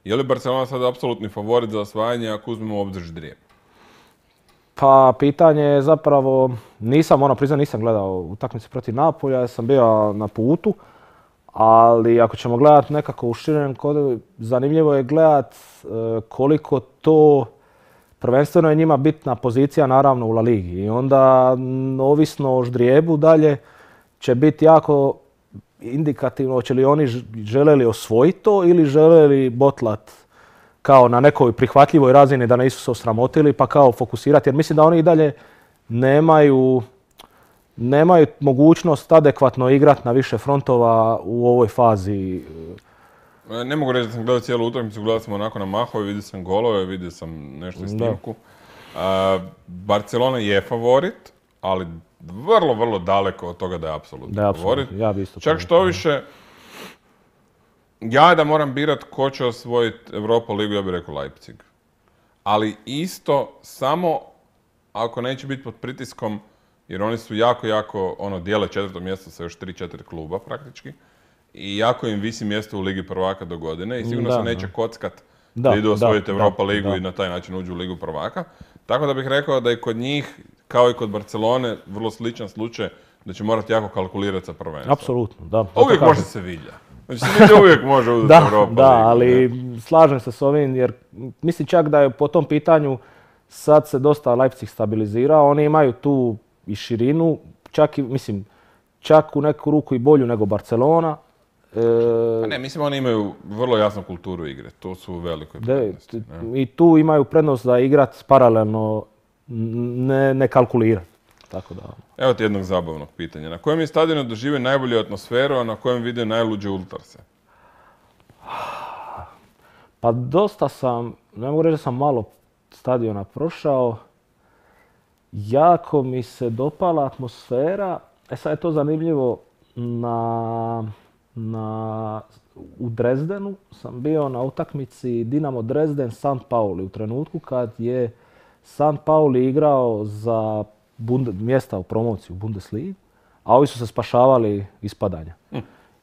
Je li Barcelona sad apsolutni favorit za osvajanje ako uzmemo u obzir ždrijeb? Pa pitanje je zapravo, nisam gledao utakmice protiv Napolja, ja sam bio na putu, ali ako ćemo gledati nekako u širem kodu, zanimljivo je gledati koliko to prvenstveno je njima bitna pozicija naravno u La Ligi i onda ovisno o ždrijebu dalje će biti jako indikativno hoće li oni žele li osvojiti to ili žele li botlat kao na nekoj prihvatljivoj razini da nisu se osramotili pa kao fokusirati. Jer mislim da oni i dalje nemaju mogućnost adekvatno igrati na više frontova u ovoj fazi. Ne mogu reći da sam gledao cijelu utakmicu, gledao sam onako na mahove, vidio sam golove, vidio sam nešto iz snimku. Barcelona je favorit, ali vrlo, vrlo daleko od toga da je apsolutni favorit. Ja bi isto čak što više, ja da moram birat ko će osvojiti Europa ligu, ja bih rekao Leipzig. Ali isto samo ako neće biti pod pritiskom, jer oni su jako, dijele 4. mjesto sa još 3-4 kluba praktički. I jako im visi mjesto u Ligi prvaka do godine i sigurno se neće kockat da idu osvojiti Europa ligu i na taj način uđu u Ligu prvaka. Tako da bih rekao da je kod njih, kao i kod Barcelone, vrlo sličan slučaj da će morati jako kalkulirati sa prvenstvom. Apsolutno, da. Uvijek može Sevilla. Znači Sevilla uvijek može uzeti Europa ligu. Da, ali slažem se s ovim jer mislim čak da je po tom pitanju sad se dosta Leipzig stabilizirao. Oni imaju tu i širinu, čak u neku ruku i bolju nego Barcelona. Mislim oni imaju vrlo jasnu kulturu igre, to su u velikoj prednosti. I tu imaju prednost da igrat paralelno, ne kalkulirati. Tako da... Evo ti jednog zabavnog pitanja. Na kojem je stadionu doživio najbolju atmosferu, a na kojem vidio najluđe ultrase? Pa dosta sam, ne mogu reći da sam malo stadiona prošao. Jako mi se dopala atmosfera. Sad je to zanimljivo u Dresdenu sam bio na utakmici Dinamo Dresden St. Pauli u trenutku kad je St. Pauli igrao za mjesta u promociju u Bundesligi, a ovi su se spašavali ispadanja.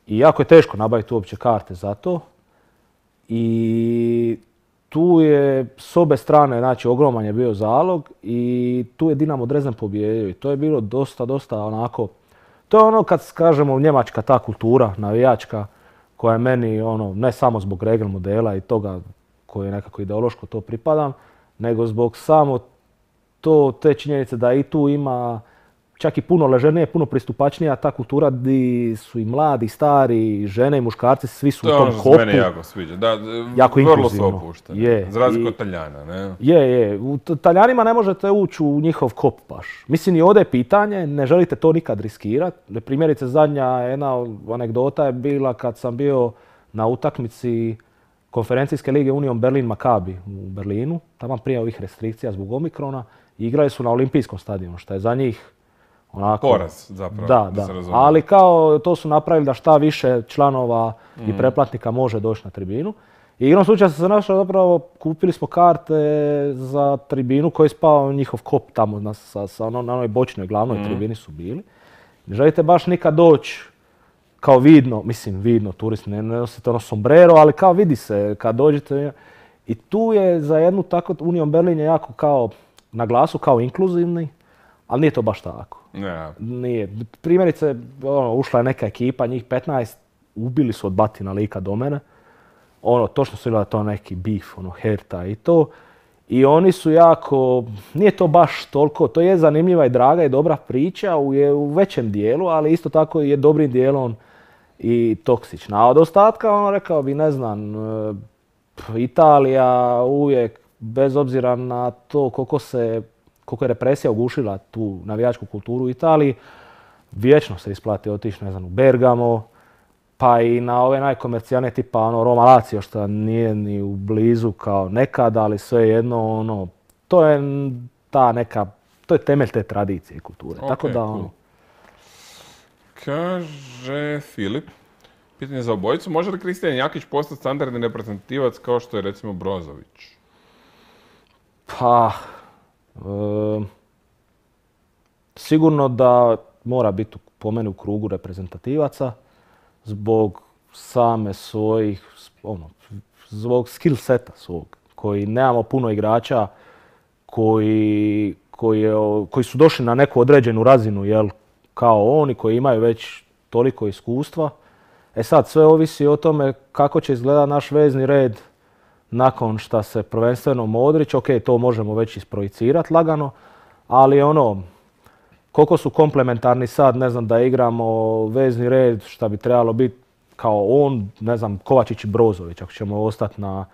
I jako je teško nabaviti uopće karte za to. I tu je s obe strane, znači ogroman je bio zalog i tu je Dinamo Dresden pobijedio i to je bilo dosta onako. To je ono kad kažemo njemačka ta kultura navijačka koja je meni ne samo zbog regel modela i toga koje je nekako ideološko to pripadam, nego zbog samo te činjenice da i tu ima čak i puno ležernije, puno pristupačnija ta kultura gdje su i mladi, stari, žene i muškarci, svi su u tom kopu. To je ono što se meni jako sviđa. Da, jako vrlo su opušteni. Za razliku od Taljana, ne? Je. U Taljanima ne možete ući u njihov kop baš. Mislim i ovdje je pitanje, ne želite to nikad riskirati. Primjerice zadnja jedna anegdota je bila kad sam bio na utakmici konferencijske lige Union Berlin Maccabi u Berlinu, tamo prije ovih restrikcija zbog Omikrona, i igrali su na olimpijskom stadionu, što je za njih onako... Poraz, zapravo, da se razumije. Ali kao to su napravili da šta više članova i pretplatnika može doći na tribinu. I igrom slučaja sam se našao zapravo, kupili smo karte za tribinu koji je spao njihov kop tamo na onoj bočnoj glavnoj tribini su bili. Ne želite baš nikad doći kao vidno, turisti ne nosite sombrero, ali kao vidi se kad dođete. I tu je za jednu tako, Union Berlin je jako kao na glasu, kao inkluzivni, ali nije to baš tako. Yeah. Nije. Primjerice, ušla je neka ekipa, njih 15, ubili su od batina lika do mene. Točno su bila to neki beef, Herta i to. I oni su jako, nije to baš toliko, to je zanimljiva i draga i dobra priča u većem dijelu, ali isto tako je dobrim dijelom i toksična. A od ostatka, rekao bi, ne znam, Italija uvijek, bez obzira na to koliko je represija ugušila tu navijačku kulturu u Italiji, vječno se isplati otići, ne znam, u Bergamo, pa i na ove najkomercijalne tipa Roma Lazio, što nije ni u blizu kao nekada, ali svejedno, to je to je temelj te tradicije i kulture. Okay, tako da, cool. Kaže Filip, pitanje za obojicu, može li Kristijan Jakić postati standardni reprezentativac kao što je recimo Brozović? Pa, sigurno da mora biti po meni u krugu reprezentativaca zbog same svojih, zbog skill seta svog, koji nemamo puno igrača koji su došli na neku određenu razinu, jel, kao oni koji imaju već toliko iskustva. E sad, sve ovisi o tome kako će izgledati naš vezni red nakon što se prvenstveno Modrić, ok, to možemo već isprojicirati lagano, ali koliko su komplementarni sad, ne znam, da igramo vezni red šta bi trebalo biti kao on, ne znam, Kovačić i Brozović, ako ćemo ostati na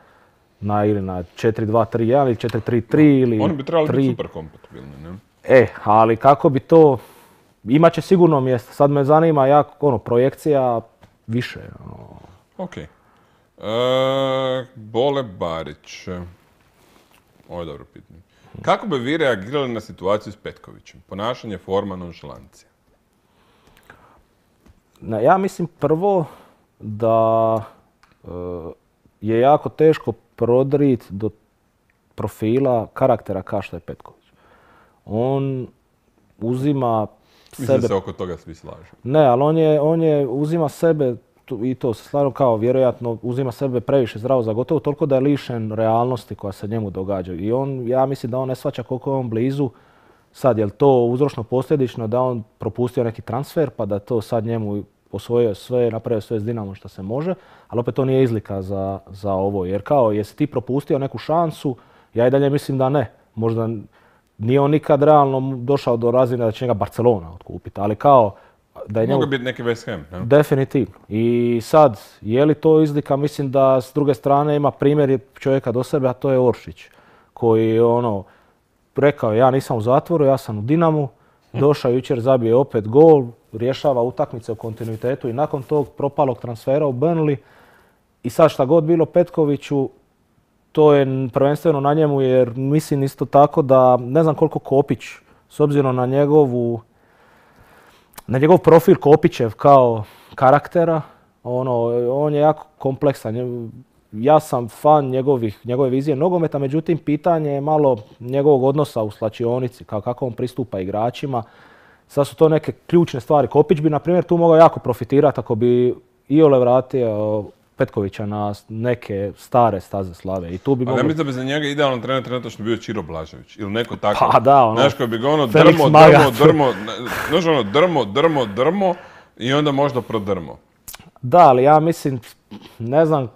4-2-3-1 ili 4-3-3 ili... Oni bi trebali biti super kompatibilni, ne? Ali kako bi to... Imat će sigurno mjesto. Sad me zanima projekcija više. Ok. Bole Barić. Ovo je dobro pitanje. Kako bi vi reagirali na situaciju s Petkovićem? Ponašanje, forma, nonšalancija. Ja mislim prvo da je jako teško prodrit do profila karaktera kao što je Petković. On uzima sebe... Mislim da se oko toga svi slažu. Ne, ali on je uzima sebe, i to se slažem kao vjerojatno, uzima sebe previše zdravo za gotovo, toliko da je lišen realnosti koja se njemu događa. I ja mislim da on ne shvaća koliko je on blizu. Sad, je li to uzročno posljedično da on propustio neki transfer, pa da to sad njemu osvojio sve, napravio sve s Dinamom što se može, ali opet to nije izlika za ovo. Jer kao, jesi ti propustio neku šansu, ja i dalje mislim da ne. Možda nije on nikad realno došao do razine da će njega Barcelona otkupiti, ali kao da je njemu... Mogu biti neki West Ham, ne? Definitivno. I sad, je li to izlika? Mislim da s druge strane ima primjer čovjeka do sebe, a to je Oršić, koji rekao ja nisam u zatvoru, ja sam u Dinamu, došao jučer, zabije opet gol, rješava utakmice u kontinuitetu i nakon tog propalog transfera u Burnley. I sad šta god bilo Petkoviću, to je prvenstveno na njemu, jer mislim isto tako da ne znam koliko Kopić, s obzirom na njegov profil Kopićev kao karaktera, on je jako kompleksan. Ja sam fan njegove vizije nogometa, međutim pitanje je malo njegovog odnosa u slačionici, kako on pristupa igračima. Sad su to neke ključne stvari. Kopić bi, na primjer, tu mogao jako profitirati ako bi iole vratio Petkovića na neke stare staze slave. I tu bi ja mislim da bi za njega idealan trener trenutačno bio Čiro Blažević ili neko tako. Pa da, znaš, koji bi ga drmo i onda možda prodrmo. Da, ali ja mislim, ne znam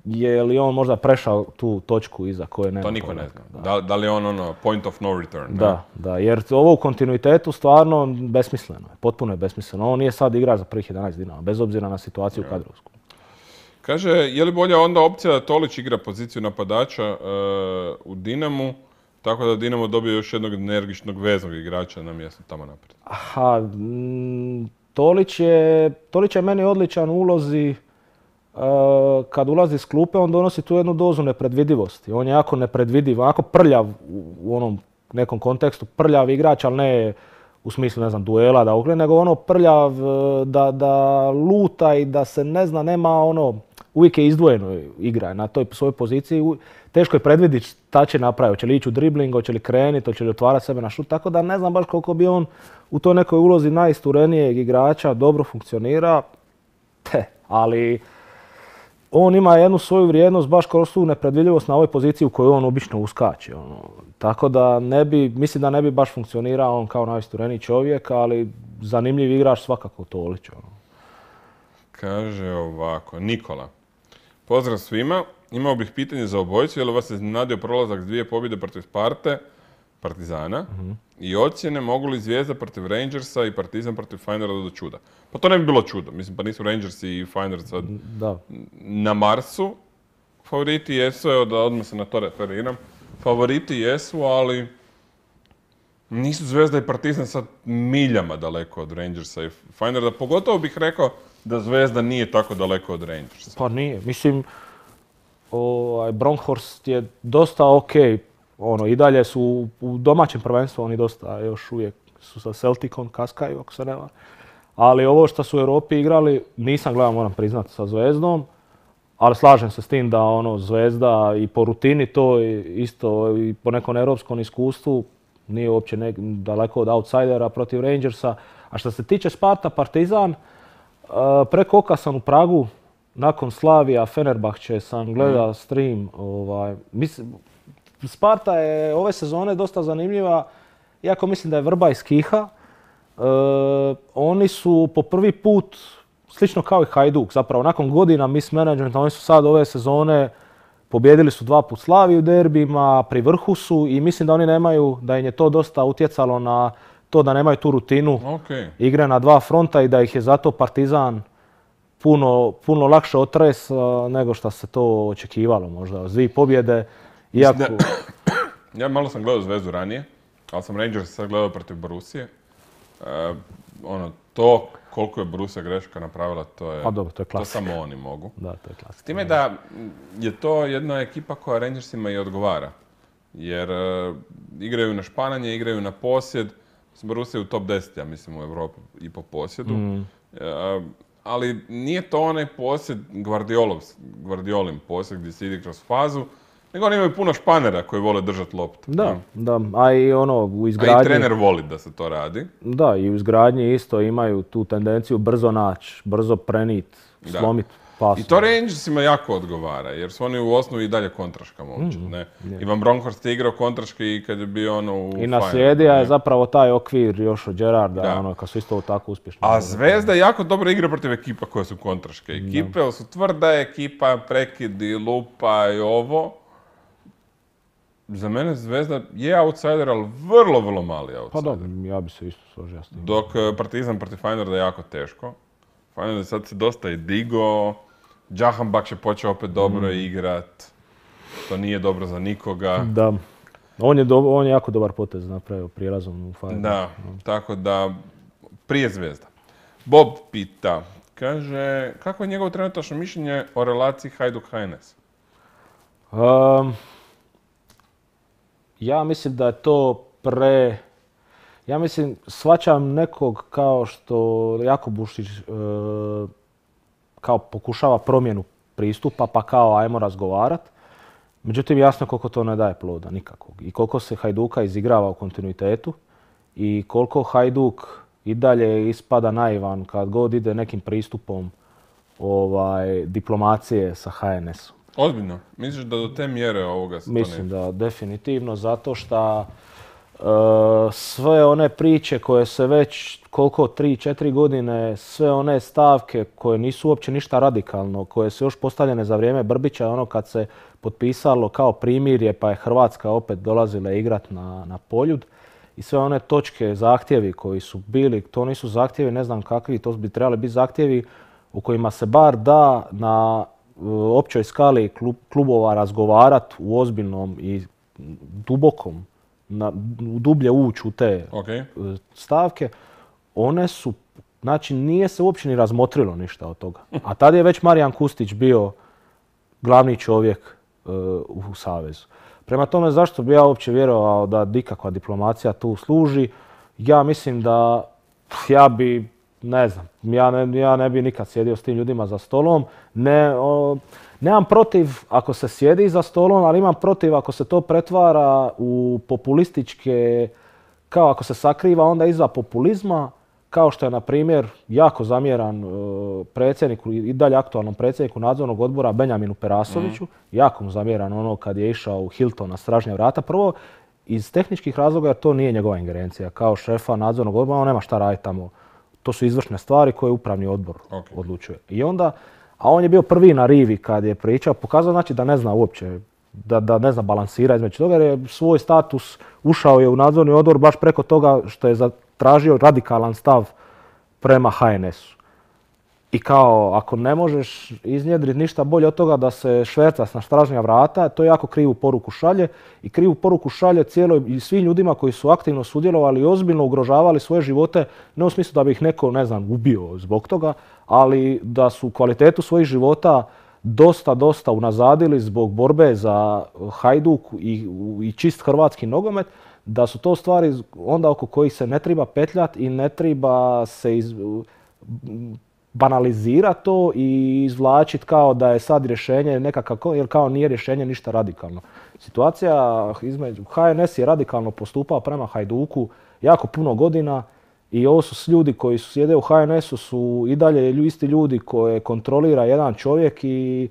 je li on možda prešao tu točku iza koje nema. To niko ne zna. Da li je on point of no return? Da, jer ovo u kontinuitetu stvarno besmisleno je. Potpuno je besmisleno. On nije sad igrač za prvih 11 Dinama, bez obzira na situaciju kadrovsku. Kaže, je li bolja onda opcija da Tolić igra poziciju napadača u Dinamu, tako da Dinamo dobije još jednog energičnog veznog igrača na mjestu tamo naprijed? Tolić je meni odličan u ulozi. Kad ulazi s klupe, on donosi tu jednu dozu nepredvidivosti. On je jako nepredvidiv, jako prljav u onom nekom kontekstu, prljav igrač, ali ne u smislu, ne znam, duela, nego prljav da luta i da se ne zna, nema uvijek je izdvojeno igra na toj svojoj poziciji. Teško je predvidjeti šta će napraviti, hoće li ići u dribling, hoće li krenuti, hoće li otvarati sebe na šut, tako da ne znam baš koliko bi on u toj nekoj ulozi najisturenijeg igrača dobro funkcionira, ali on ima jednu svoju vrijednost baš kroz tu nepredvidljivost na ovoj poziciji u kojoj on obično uskače. Tako da mislim da ne bi baš funkcionirao on kao najistureniji čovjek, ali zanimljiv igrač svakako Tolić. Kaže ovako, Nikola. Pozdrav svima, imao bih pitanje za obojicu, je li vas iznenadio prolazak s 2 pobjede protiv Sparte, Partizana, i ocjene mogu li Zvijezda protiv Rangersa i Partizan protiv Feyenoorda do čuda? Pa to ne bi bilo čudo, mislim, pa nisu Rangersi i Feyenoord sad na Marsu. Favoriti jesu, evo da odmah se na to referiram, favoriti jesu, ali nisu Zvezda i Partizan sad miljama daleko od Rangersa i Feyenoorda. Pogotovo bih rekao da Zvezda nije tako daleko od Rangersa. Pa nije, mislim, Bronkhorst je dosta okej. I dalje su u domaćem prvenstvu, oni dosta još uvijek su sa Celticom, kaskaju ako se nema. Ali ovo što su u Europi igrali, nisam gledao, moram priznati, sa Zvezdom. Ali slažem se s tim da Zvezda i po rutini to isto i po nekom europskom iskustvu nije uopće daleko od outsidera protiv Rangersa. A što se tiče Sparta Partizan, preko oka sam u Pragu, nakon Slavija Fenerbahče sam gledao stream. Sparta je ove sezone dosta zanimljiva, iako mislim da je vrba iz kiha. Oni su po prvi put, slično kao i Hajduk, zapravo nakon godina mismanagmenta, oni su sad ove sezone pobijedili su 2 put Slaviju u derbima, pri vrhu su i mislim da oni nemaju, da im je to dosta utjecalo na to da nemaju tu rutinu igre na 2 fronta i da ih je zato Partizan puno lakše otres nego što se to očekivalo možda. 2 pobjede, iako... Ja malo sam gledao Zvezdu ranije, ali sam Rangers sad gledao protiv Borussije. To koliko je Borussia greška napravila, to je to samo oni mogu. Da, to je klasika. S time da je to jedna ekipa koja Rangersima i odgovara. Jer igraju na špananje, igraju na posjed. Borussia je u top 10, ja mislim, u Europi i po posjedu. Ali nije to onaj posjed Guardiolin posjed gdje se ide kroz fazu, nego oni imaju puno španera koji vole držati loptu. Da, a i u izgradnji... A i trener voli da se to radi. Da, i u izgradnji isto imaju tu tendenciju brzo naći, brzo prenit, slomit pas. I to Rangersima jako odgovara, jer su oni u osnovi i dalje kontraška momčad. Ivan Bronckhorst je igrao kontraške i kad je bio u I naslijedija je zapravo taj okvir još od Gerarda, kad su isto tako uspješni. A Zvezda jako dobro igra protiv ekipa koje su kontraške ekipe, ali su tvrda ekipa, prekidi, lupa i ovo. Za mene Zvezda je outsider, ali vrlo, vrlo mali outsider. Pa dobro, ja bi se isto složio s tim. Dok Partizan protiv Feyenoorda je jako teško. Feyenoord sad se dosta i digo. Jahanbakhsh je počeo opet dobro igrat. To nije dobro za nikoga. Da. On je jako dobar potez napravio prijelazom u Feyenoord. Da, tako da prije Zvezda. Bob pita, kaže, kako je njegovo trenutačno mišljenje o relaciji Hajduk-HNS? Ja mislim da je to ja mislim, shvaćam nekog kao što Jakub Bušić kao pokušava promjenu pristupa, pa kao ajmo razgovarat. Međutim, jasno koliko to ne daje ploda, nikakvog. I koliko se Hajduka izigrava u kontinuitetu i koliko Hajduk i dalje ispada naivan kad god ide nekim pristupom diplomacije sa HNS-om. Ozbiljno? Misliš da do te mjere ovoga se Mislim da definitivno, zato što sve one priče koje se već 3-4 godine, sve one stavke koje nisu uopće ništa radikalno, koje su još postavljene za vrijeme Brbića, kad se potpisalo kao primirje pa je Hrvatska opet dolazila igrat na Poljud i sve one točke, zahtjevi koji su bili, to nisu zahtjevi ne znam kakvi, to bi trebali biti zahtjevi u kojima se bar da na općoj skali klubova razgovarati u ozbiljnom i dubokom, dublje ući u te stavke, one su, znači nije se uopće ni razmotrilo ništa od toga. A tad je već Marijan Kustić bio glavni čovjek u Savezu. Prema tome, zašto bi ja uopće vjerovao da nikakva diplomacija tu služi? Ja mislim da ne znam, ja ne bi nikad sjedio s tim ljudima za stolom. Nemam protiv ako se sjedi za stolom, ali imam protiv ako se to pretvara u populističke, kao ako se sakriva onda iza populizma, kao što je, na primjer, jako zamjeran predsjedniku i dalje aktualnom predsjedniku nadzornog odbora Benjaminu Perasoviću. Jako mu zamjeran kad je išao u Hilton na stražnja vrata. Prvo, iz tehničkih razloga, jer to nije njegova ingerencija. Kao šefa nadzornog odbora, on nema šta raditi tamo. To su izvršne stvari koje upravni odbor odlučuje. I onda, a on je bio prvi na rivi kad je pričao, pokazao znači da ne zna uopće, da ne zna balansirati između toga, jer je svoj status ušao je u nadzorni odbor baš preko toga što je zatražio radikalan stav prema HNS-u. I kao, ako ne možeš iznjedriti ništa bolje od toga da se švercaš na stražnja vrata, to jako krivu poruku šalje. I krivu poruku šalje i svim ljudima koji su aktivno sudjelovali i ozbiljno ugrožavali svoje živote, ne u smislu da bi ih neko, ubio zbog toga, ali da su kvalitetu svojih života dosta unazadili zbog borbe za Hajduk i čist hrvatski nogomet, da su to stvari onda oko kojih se ne treba petljati i ne treba se banalizira to i izvlačiti kao da je sad rješenje nekakav, jer kao nije rješenje ništa radikalno. Situacija između HNS je radikalno postupao prema Hajduku jako puno godina i ovo su ljudi koji su sjede u HNS-u su i dalje isti ljudi koje kontrolira jedan čovjek i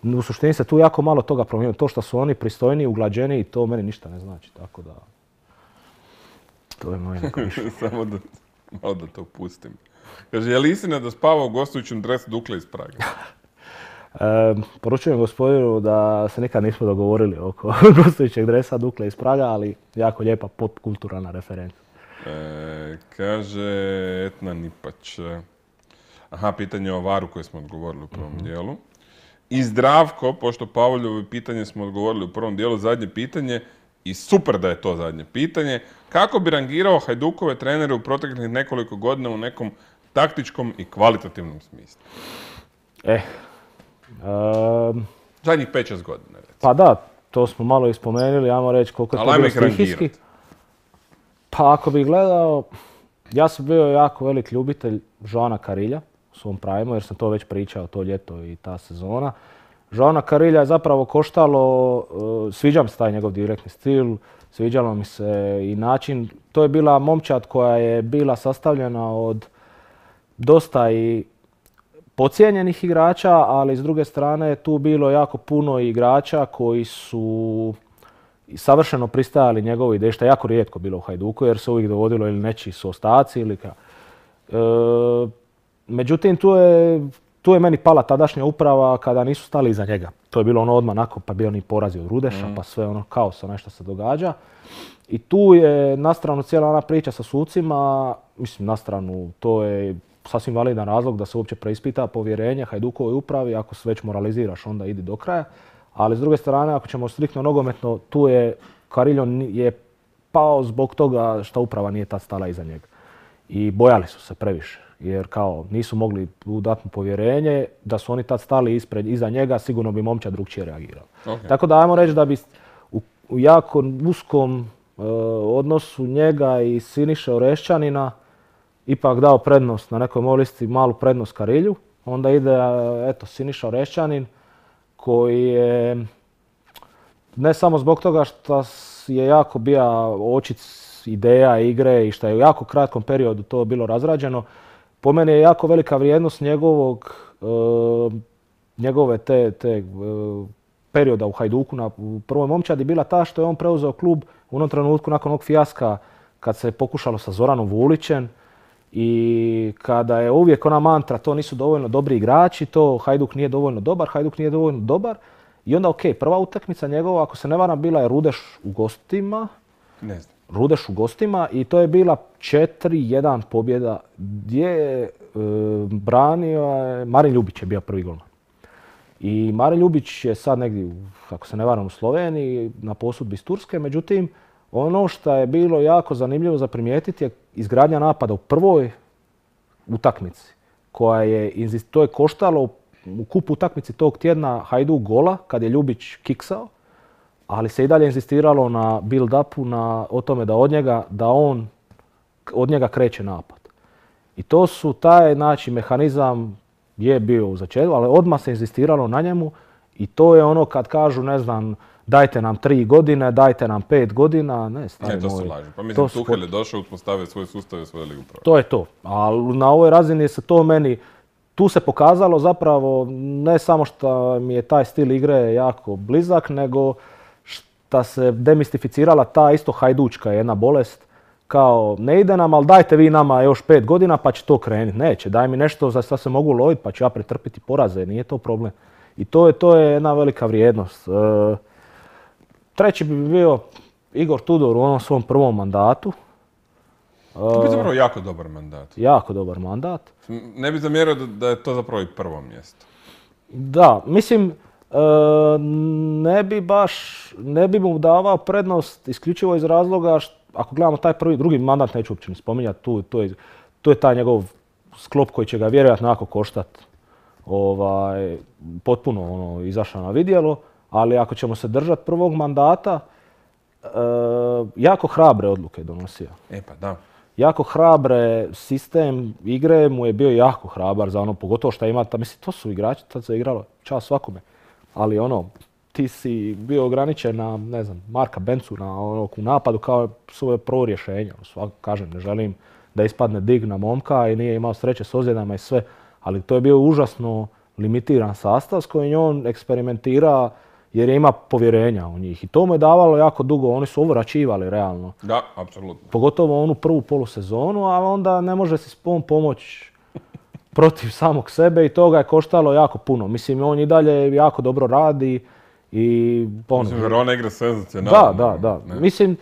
u suštini se tu jako malo toga promijenilo. To što su oni pristojniji, uglađeniji, to meni ništa ne znači, tako da to je moje neko više. Samo da, malo da to pustim. Kaže, je li istina da spava u gostujućem dresu Dukle iz Praga? Poručujem gospodinu da se nikad nismo dogovorili oko gostujućeg dresa Dukle iz Praga, ali jako lijepa popkulturalna referenca. Kaže Etna Nipać. Aha, pitanje o Varu koje smo odgovorili u prvom dijelu. I Zdravko, pošto Pavlovo pitanje smo odgovorili u prvom dijelu, zadnje pitanje, i super da je to zadnje pitanje. Kako bi rangirao Hajdukove trenere u proteklih nekoliko godina u nekom taktičkom i kvalitativnom smislu? Zadnjih 5-6 godina, recimo. Pa da, to smo malo i spomenuli, ajmo reći koliko je to bilo stihijski. Pa ako bih gledao, ja sam bio jako velik ljubitelj Joana Carilja u svom primu, jer sam to već pričao to ljeto i ta sezona. Joana Carilja je zapravo koštalo, sviđa mi se taj njegov direktni stil, sviđalo mi se i način. To je bila momčad koja je bila sastavljena od dosta i podcijenjenih igrača, ali s druge strane tu bilo jako puno igrača koji su savršeno pristajali njegovoj ideji, što je jako rijetko bilo u Hajduku, jer se uvijek dovodilo ili nečiji su ostaci ili međutim, tu je meni pala tadašnja uprava kada nisu stali iza njega. To je bilo ono odmah nakon, pa bio oni porazi od Rudeša, pa sve ono kaos, nešto se događa. I tu je na stranu cijela ona priča sa sucima, mislim na stranu, to je sasvim validan razlog da se uopće preispita povjerenje Hajdukovoj upravi, ako se već moraliziraš onda idi do kraja. Ali s druge strane, ako ćemo striktno nogometno, tu je Carillo je pao zbog toga što uprava nije tad stala iza njega. I bojali su se previše, jer kao nisu mogli dati mu povjerenje, da su oni tad stali iza njega, sigurno bi momčad drugčije reagirala. Okay. Tako da ajmo reći da bi u jako uskom odnosu njega i Siniše Orešćanina ipak dao prednost na nekoj mojoj listi, malu prednost Carilju. Onda ide Siniša Orešćanin, koji je ne samo zbog toga što je jako bio očit ideja igre i što je u jako kratkom periodu to bilo razrađeno, po meni je jako velika vrijednost njegove te perioda u Hajduku u prvoj momčadi bila ta što je on preuzeo klub u onom trenutku nakon onog fijaska kad se pokušalo sa Zoranom Vulićem i kada je uvijek ona mantra to nisu dovoljno dobri igrači, to Hajduk nije dovoljno dobar, i onda prva utakmica njegova, ako se ne varam, bila je Rudeš u gostima. Ne znam. Rudeš u gostima i to je bila 4-1 pobjeda gdje je branio Marin Ljubić je bio prvi golman. I Marin Ljubić je sad negdje, ako se ne varam, u Sloveniji na posudbi iz Turske, međutim ono što je bilo jako zanimljivo za primijetiti je izgradnja napada u prvoj utakmici to je koštalo u kupu utakmici tog tjedna Hajduk gola kad je Ljubić kiksao, ali se i dalje inzistiralo na build-upu, o tome da on od njega kreće napad. I to su taj mehanizam je bio u začetku, ali odmah se inzistiralo na njemu i to je ono kad kažu, ne znam, dajte nam 3 godine, dajte nam 5 godina, ne, stari moj. To su laži. Pa mislim, Tuchel je došao, uspostavio svoje sustave, svoje ligu prava. To je to. Ali na ovoj razini se to meni, tu se pokazalo zapravo ne samo što mi je taj stil igre jako blizak, nego što se demistificirala ta isto hajdučka jedna bolest. Kao, ne ide nam, ali dajte vi nama još 5 godina pa će to krenuti. Neće, daj mi nešto za što se mogu loviti pa ću ja pretrpiti poraze, nije to problem. I to je jedna velika vrijednost. Treći bi bio Igor Tudor u onom svom prvom mandatu. To je zapravo jako dobar mandat. Jako dobar mandat. Ne bi zamjerio da je to zapravo i prvo mjesto. Da, mislim, ne bi mu davao prednost isključivo iz razloga ako gledamo taj drugi mandat, neću uopće ni spominjati, to je taj njegov sklop koji će ga vjerojatno jako koštati. Potpuno izašao na vidjelo, ali ako ćemo se držati prvog mandata, jako hrabre odluke donosio. Pa da. jako hrabre, sistem igre mu je bio jako hrabar za ono, pogotovo što ima, mislim, to su igrači, tad se igralo, čast svakome. Ali ono, ti si bio ograničen na, ne znam, Marka Bencu u napadu kao svoje prvo rješenje. Kažem, ne želim da ispadne dig na momka i nije imao sreće s ozljedama i sve, ali to je bio užasno limitiran sastav s kojim on eksperimentira jer je ima povjerenja u njih. I to mu je davalo jako dugo, oni su ovraćivali realno. Da, apsolutno. Pogotovo onu prvu polusezonu, a onda ne može si pomoći protiv samog sebe i to ga je koštalo jako puno. Mislim, on i dalje jako dobro radi i... Mislim, Verona igra senzacionalno. Da. Mislim,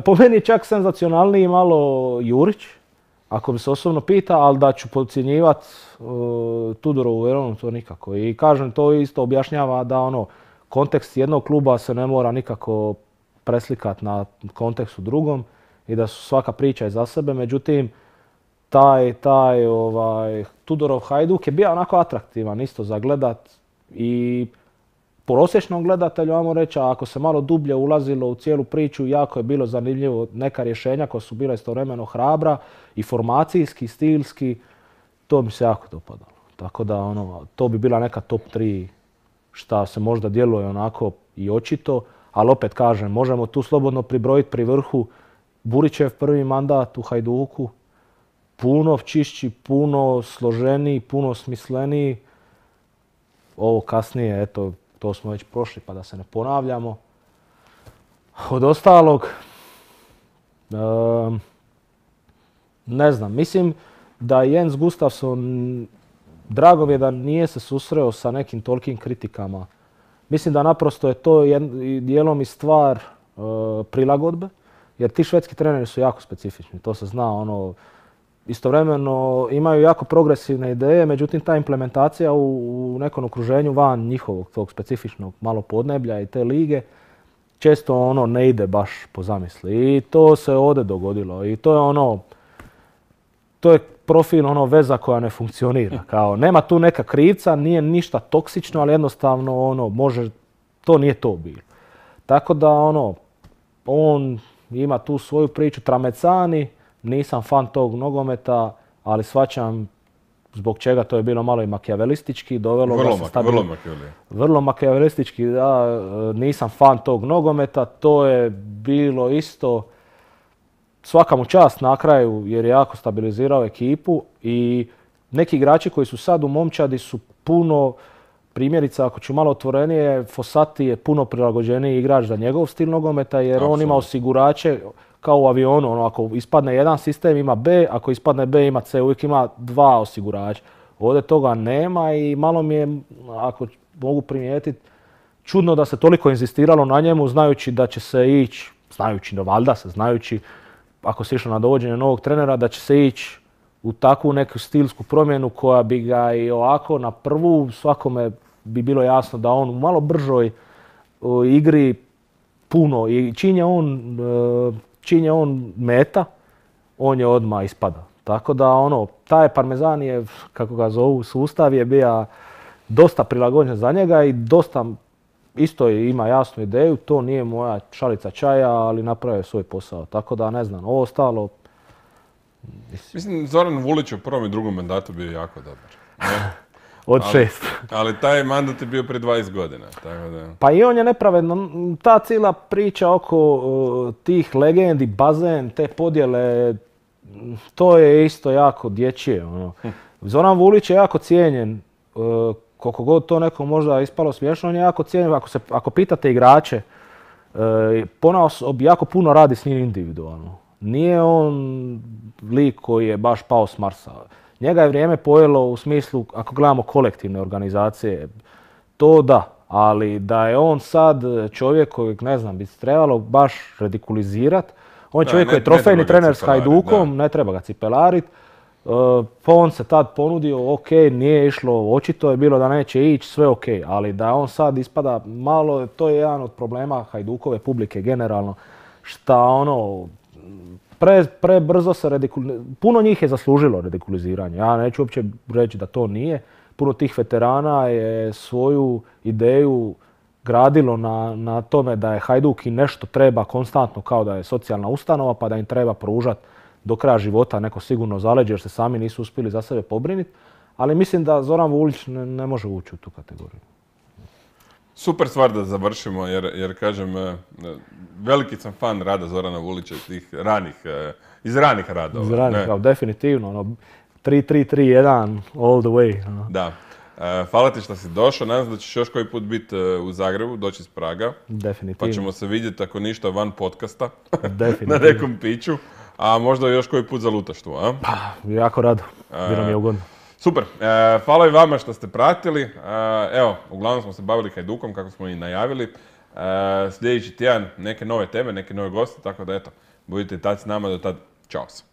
po meni je čak senzacionalniji malo Jurić, ako bi se osobno pita, ali da ću podcjenjivati Tudorovu Veronu, to nikako. I kažem, to isto objašnjava da ono, kontekst jednog kluba se ne mora nikako preslikati na kontekstu drugom i da su svaka priča iza sebe. Međutim, taj Tudorov Hajduk je bio onako atraktivan isto za gledat i prosječnom gledatelju, ajmo reći, a ako se malo dublje ulazilo u cijelu priču, jako je bilo zanimljivo neka rješenja koja su bila istovremeno hrabra i formacijski, stilski, to mi se jako dopadalo. Tako da ono, to bi bila neka top 3 šta se možda djeluje onako i očito, ali opet kažem, možemo tu slobodno pribrojiti pri vrhu Burićev prvi mandat u Hajduku, puno čišći, puno složeniji, puno smisleniji. Ovo kasnije, eto, to smo već prošli pa da se ne ponavljamo. Od ostalog, ne znam, mislim da Jens Gustafsson, drago mi je da nije se susreo sa nekim tolikim kritikama. Mislim da naprosto je to dijelom i stvar prilagodbe, jer ti švedski treneri su jako specifični, to se zna. Ono, istovremeno imaju jako progresivne ideje, međutim ta implementacija u nekom okruženju van njihovog tog specifičnog malo podneblja i te lige često ono ne ide baš po zamisli. I to se ovdje dogodilo. I to je ono, to je profil ono veza koja ne funkcionira. Kao, nema tu neka krivca, nije ništa toksično, ali jednostavno ono može, to nije to bilo. Tako da ono, on ima tu svoju priču. Tramecani, nisam fan tog nogometa, ali shvaćam zbog čega to je bilo malo i makijavelistički. Vrlo makijavelistički, da, nisam fan tog nogometa. To je bilo isto, svaka mu čast na kraju jer je jako stabilizirao ekipu i neki igrači koji su sad u momčadi su puno, primjerice ako ću malo otvorenije, Fossati je puno prilagođeniji igrač za njegov stil nogometa jer absolutno. On ima osigurače kao u avionu, ono, ako ispadne jedan sistem ima B, ako ispadne B ima C, uvijek ima dva osigurača. Ovdje toga nema i malo mi je, ako mogu primijetiti, čudno da se toliko inzistiralo na njemu znajući da će se ići, znajući ako se išlo na dovođenje novog trenera, da će se ići u takvu neku stilsku promjenu koja bi ga i ovako na prvu svakome bi bilo jasno da on u malo bržoj igri puno i čim je on meta, on je odmah ispada. Tako da ono, taj parmezan je, kako ga zovu, sustav je bio dosta prilagođen za njega i dosta isto ima jasnu ideju, to nije moja šalica čaja, ali napravio svoj posao. Tako da ne znam, ovo ostalo... Mislim, Zoran Vulić u prvom i drugom mandatu bio jako dobar. Od 6. Ali taj mandat je bio prije 20 godina. Tako da... Pa i on je nepravedno, ta cijela priča oko tih legendi, bazen, te podjele, to je isto jako dječje. Ono. Zoran Vulić je jako cijenjen, koliko god to nekom možda ispalo smiješno, on je jako cijenjen. Ako pitate igrače, ponaosob jako puno radi s njim individualno. Nije on lik koji je baš pao s Marsa. Njega je vrijeme pojelo u smislu, ako gledamo kolektivne organizacije, to da, ali da je on sad čovjek kojeg, ne znam, bi se trebalo baš ridikulizirati. On je čovjek koji je trofejni trener s Hajdukom, ne treba ga cipelarit. Pa on se tad ponudio, ok, nije išlo, očito je bilo da neće ići, sve ok, ali da on sad ispada malo, to je jedan od problema Hajdukove publike generalno, šta ono, prebrzo se puno njih je zaslužilo ridikuliziranje. Ja neću uopće reći da to nije. Puno tih veterana je svoju ideju gradilo na tome da je Hajduk i nešto treba konstantno kao da je socijalna ustanova pa da im treba pružati do kraja života neko sigurno zaleđe jer se sami nisu uspjeli za sebe pobriniti. Ali mislim da Zoran Vulić ne može ući u tu kategoriju. Super stvar da završimo, jer kažem, veliki sam fan rada Zorana Vulića iz tih iz ranih radova. Iz ranih, definitivno. 3-3-3-1 all the way. Da. Hvala ti što si došao, nadam se da ćeš još koji put biti u Zagrebu, doći iz Praga. Definitivno. Pa ćemo se vidjeti ako ništa van podcasta, Definitivno. na nekom piću, a možda još koji put za lutaštvo, a? Pa, jako rado, bilo mi je ugodno. Super, hvala i vama što ste pratili. Evo, uglavnom smo se bavili Hajdukom, kako smo i najavili. Sljedeći tjedan neke nove teme, neke nove goste, tako da eto, budite tad s nama, do tad, čao se.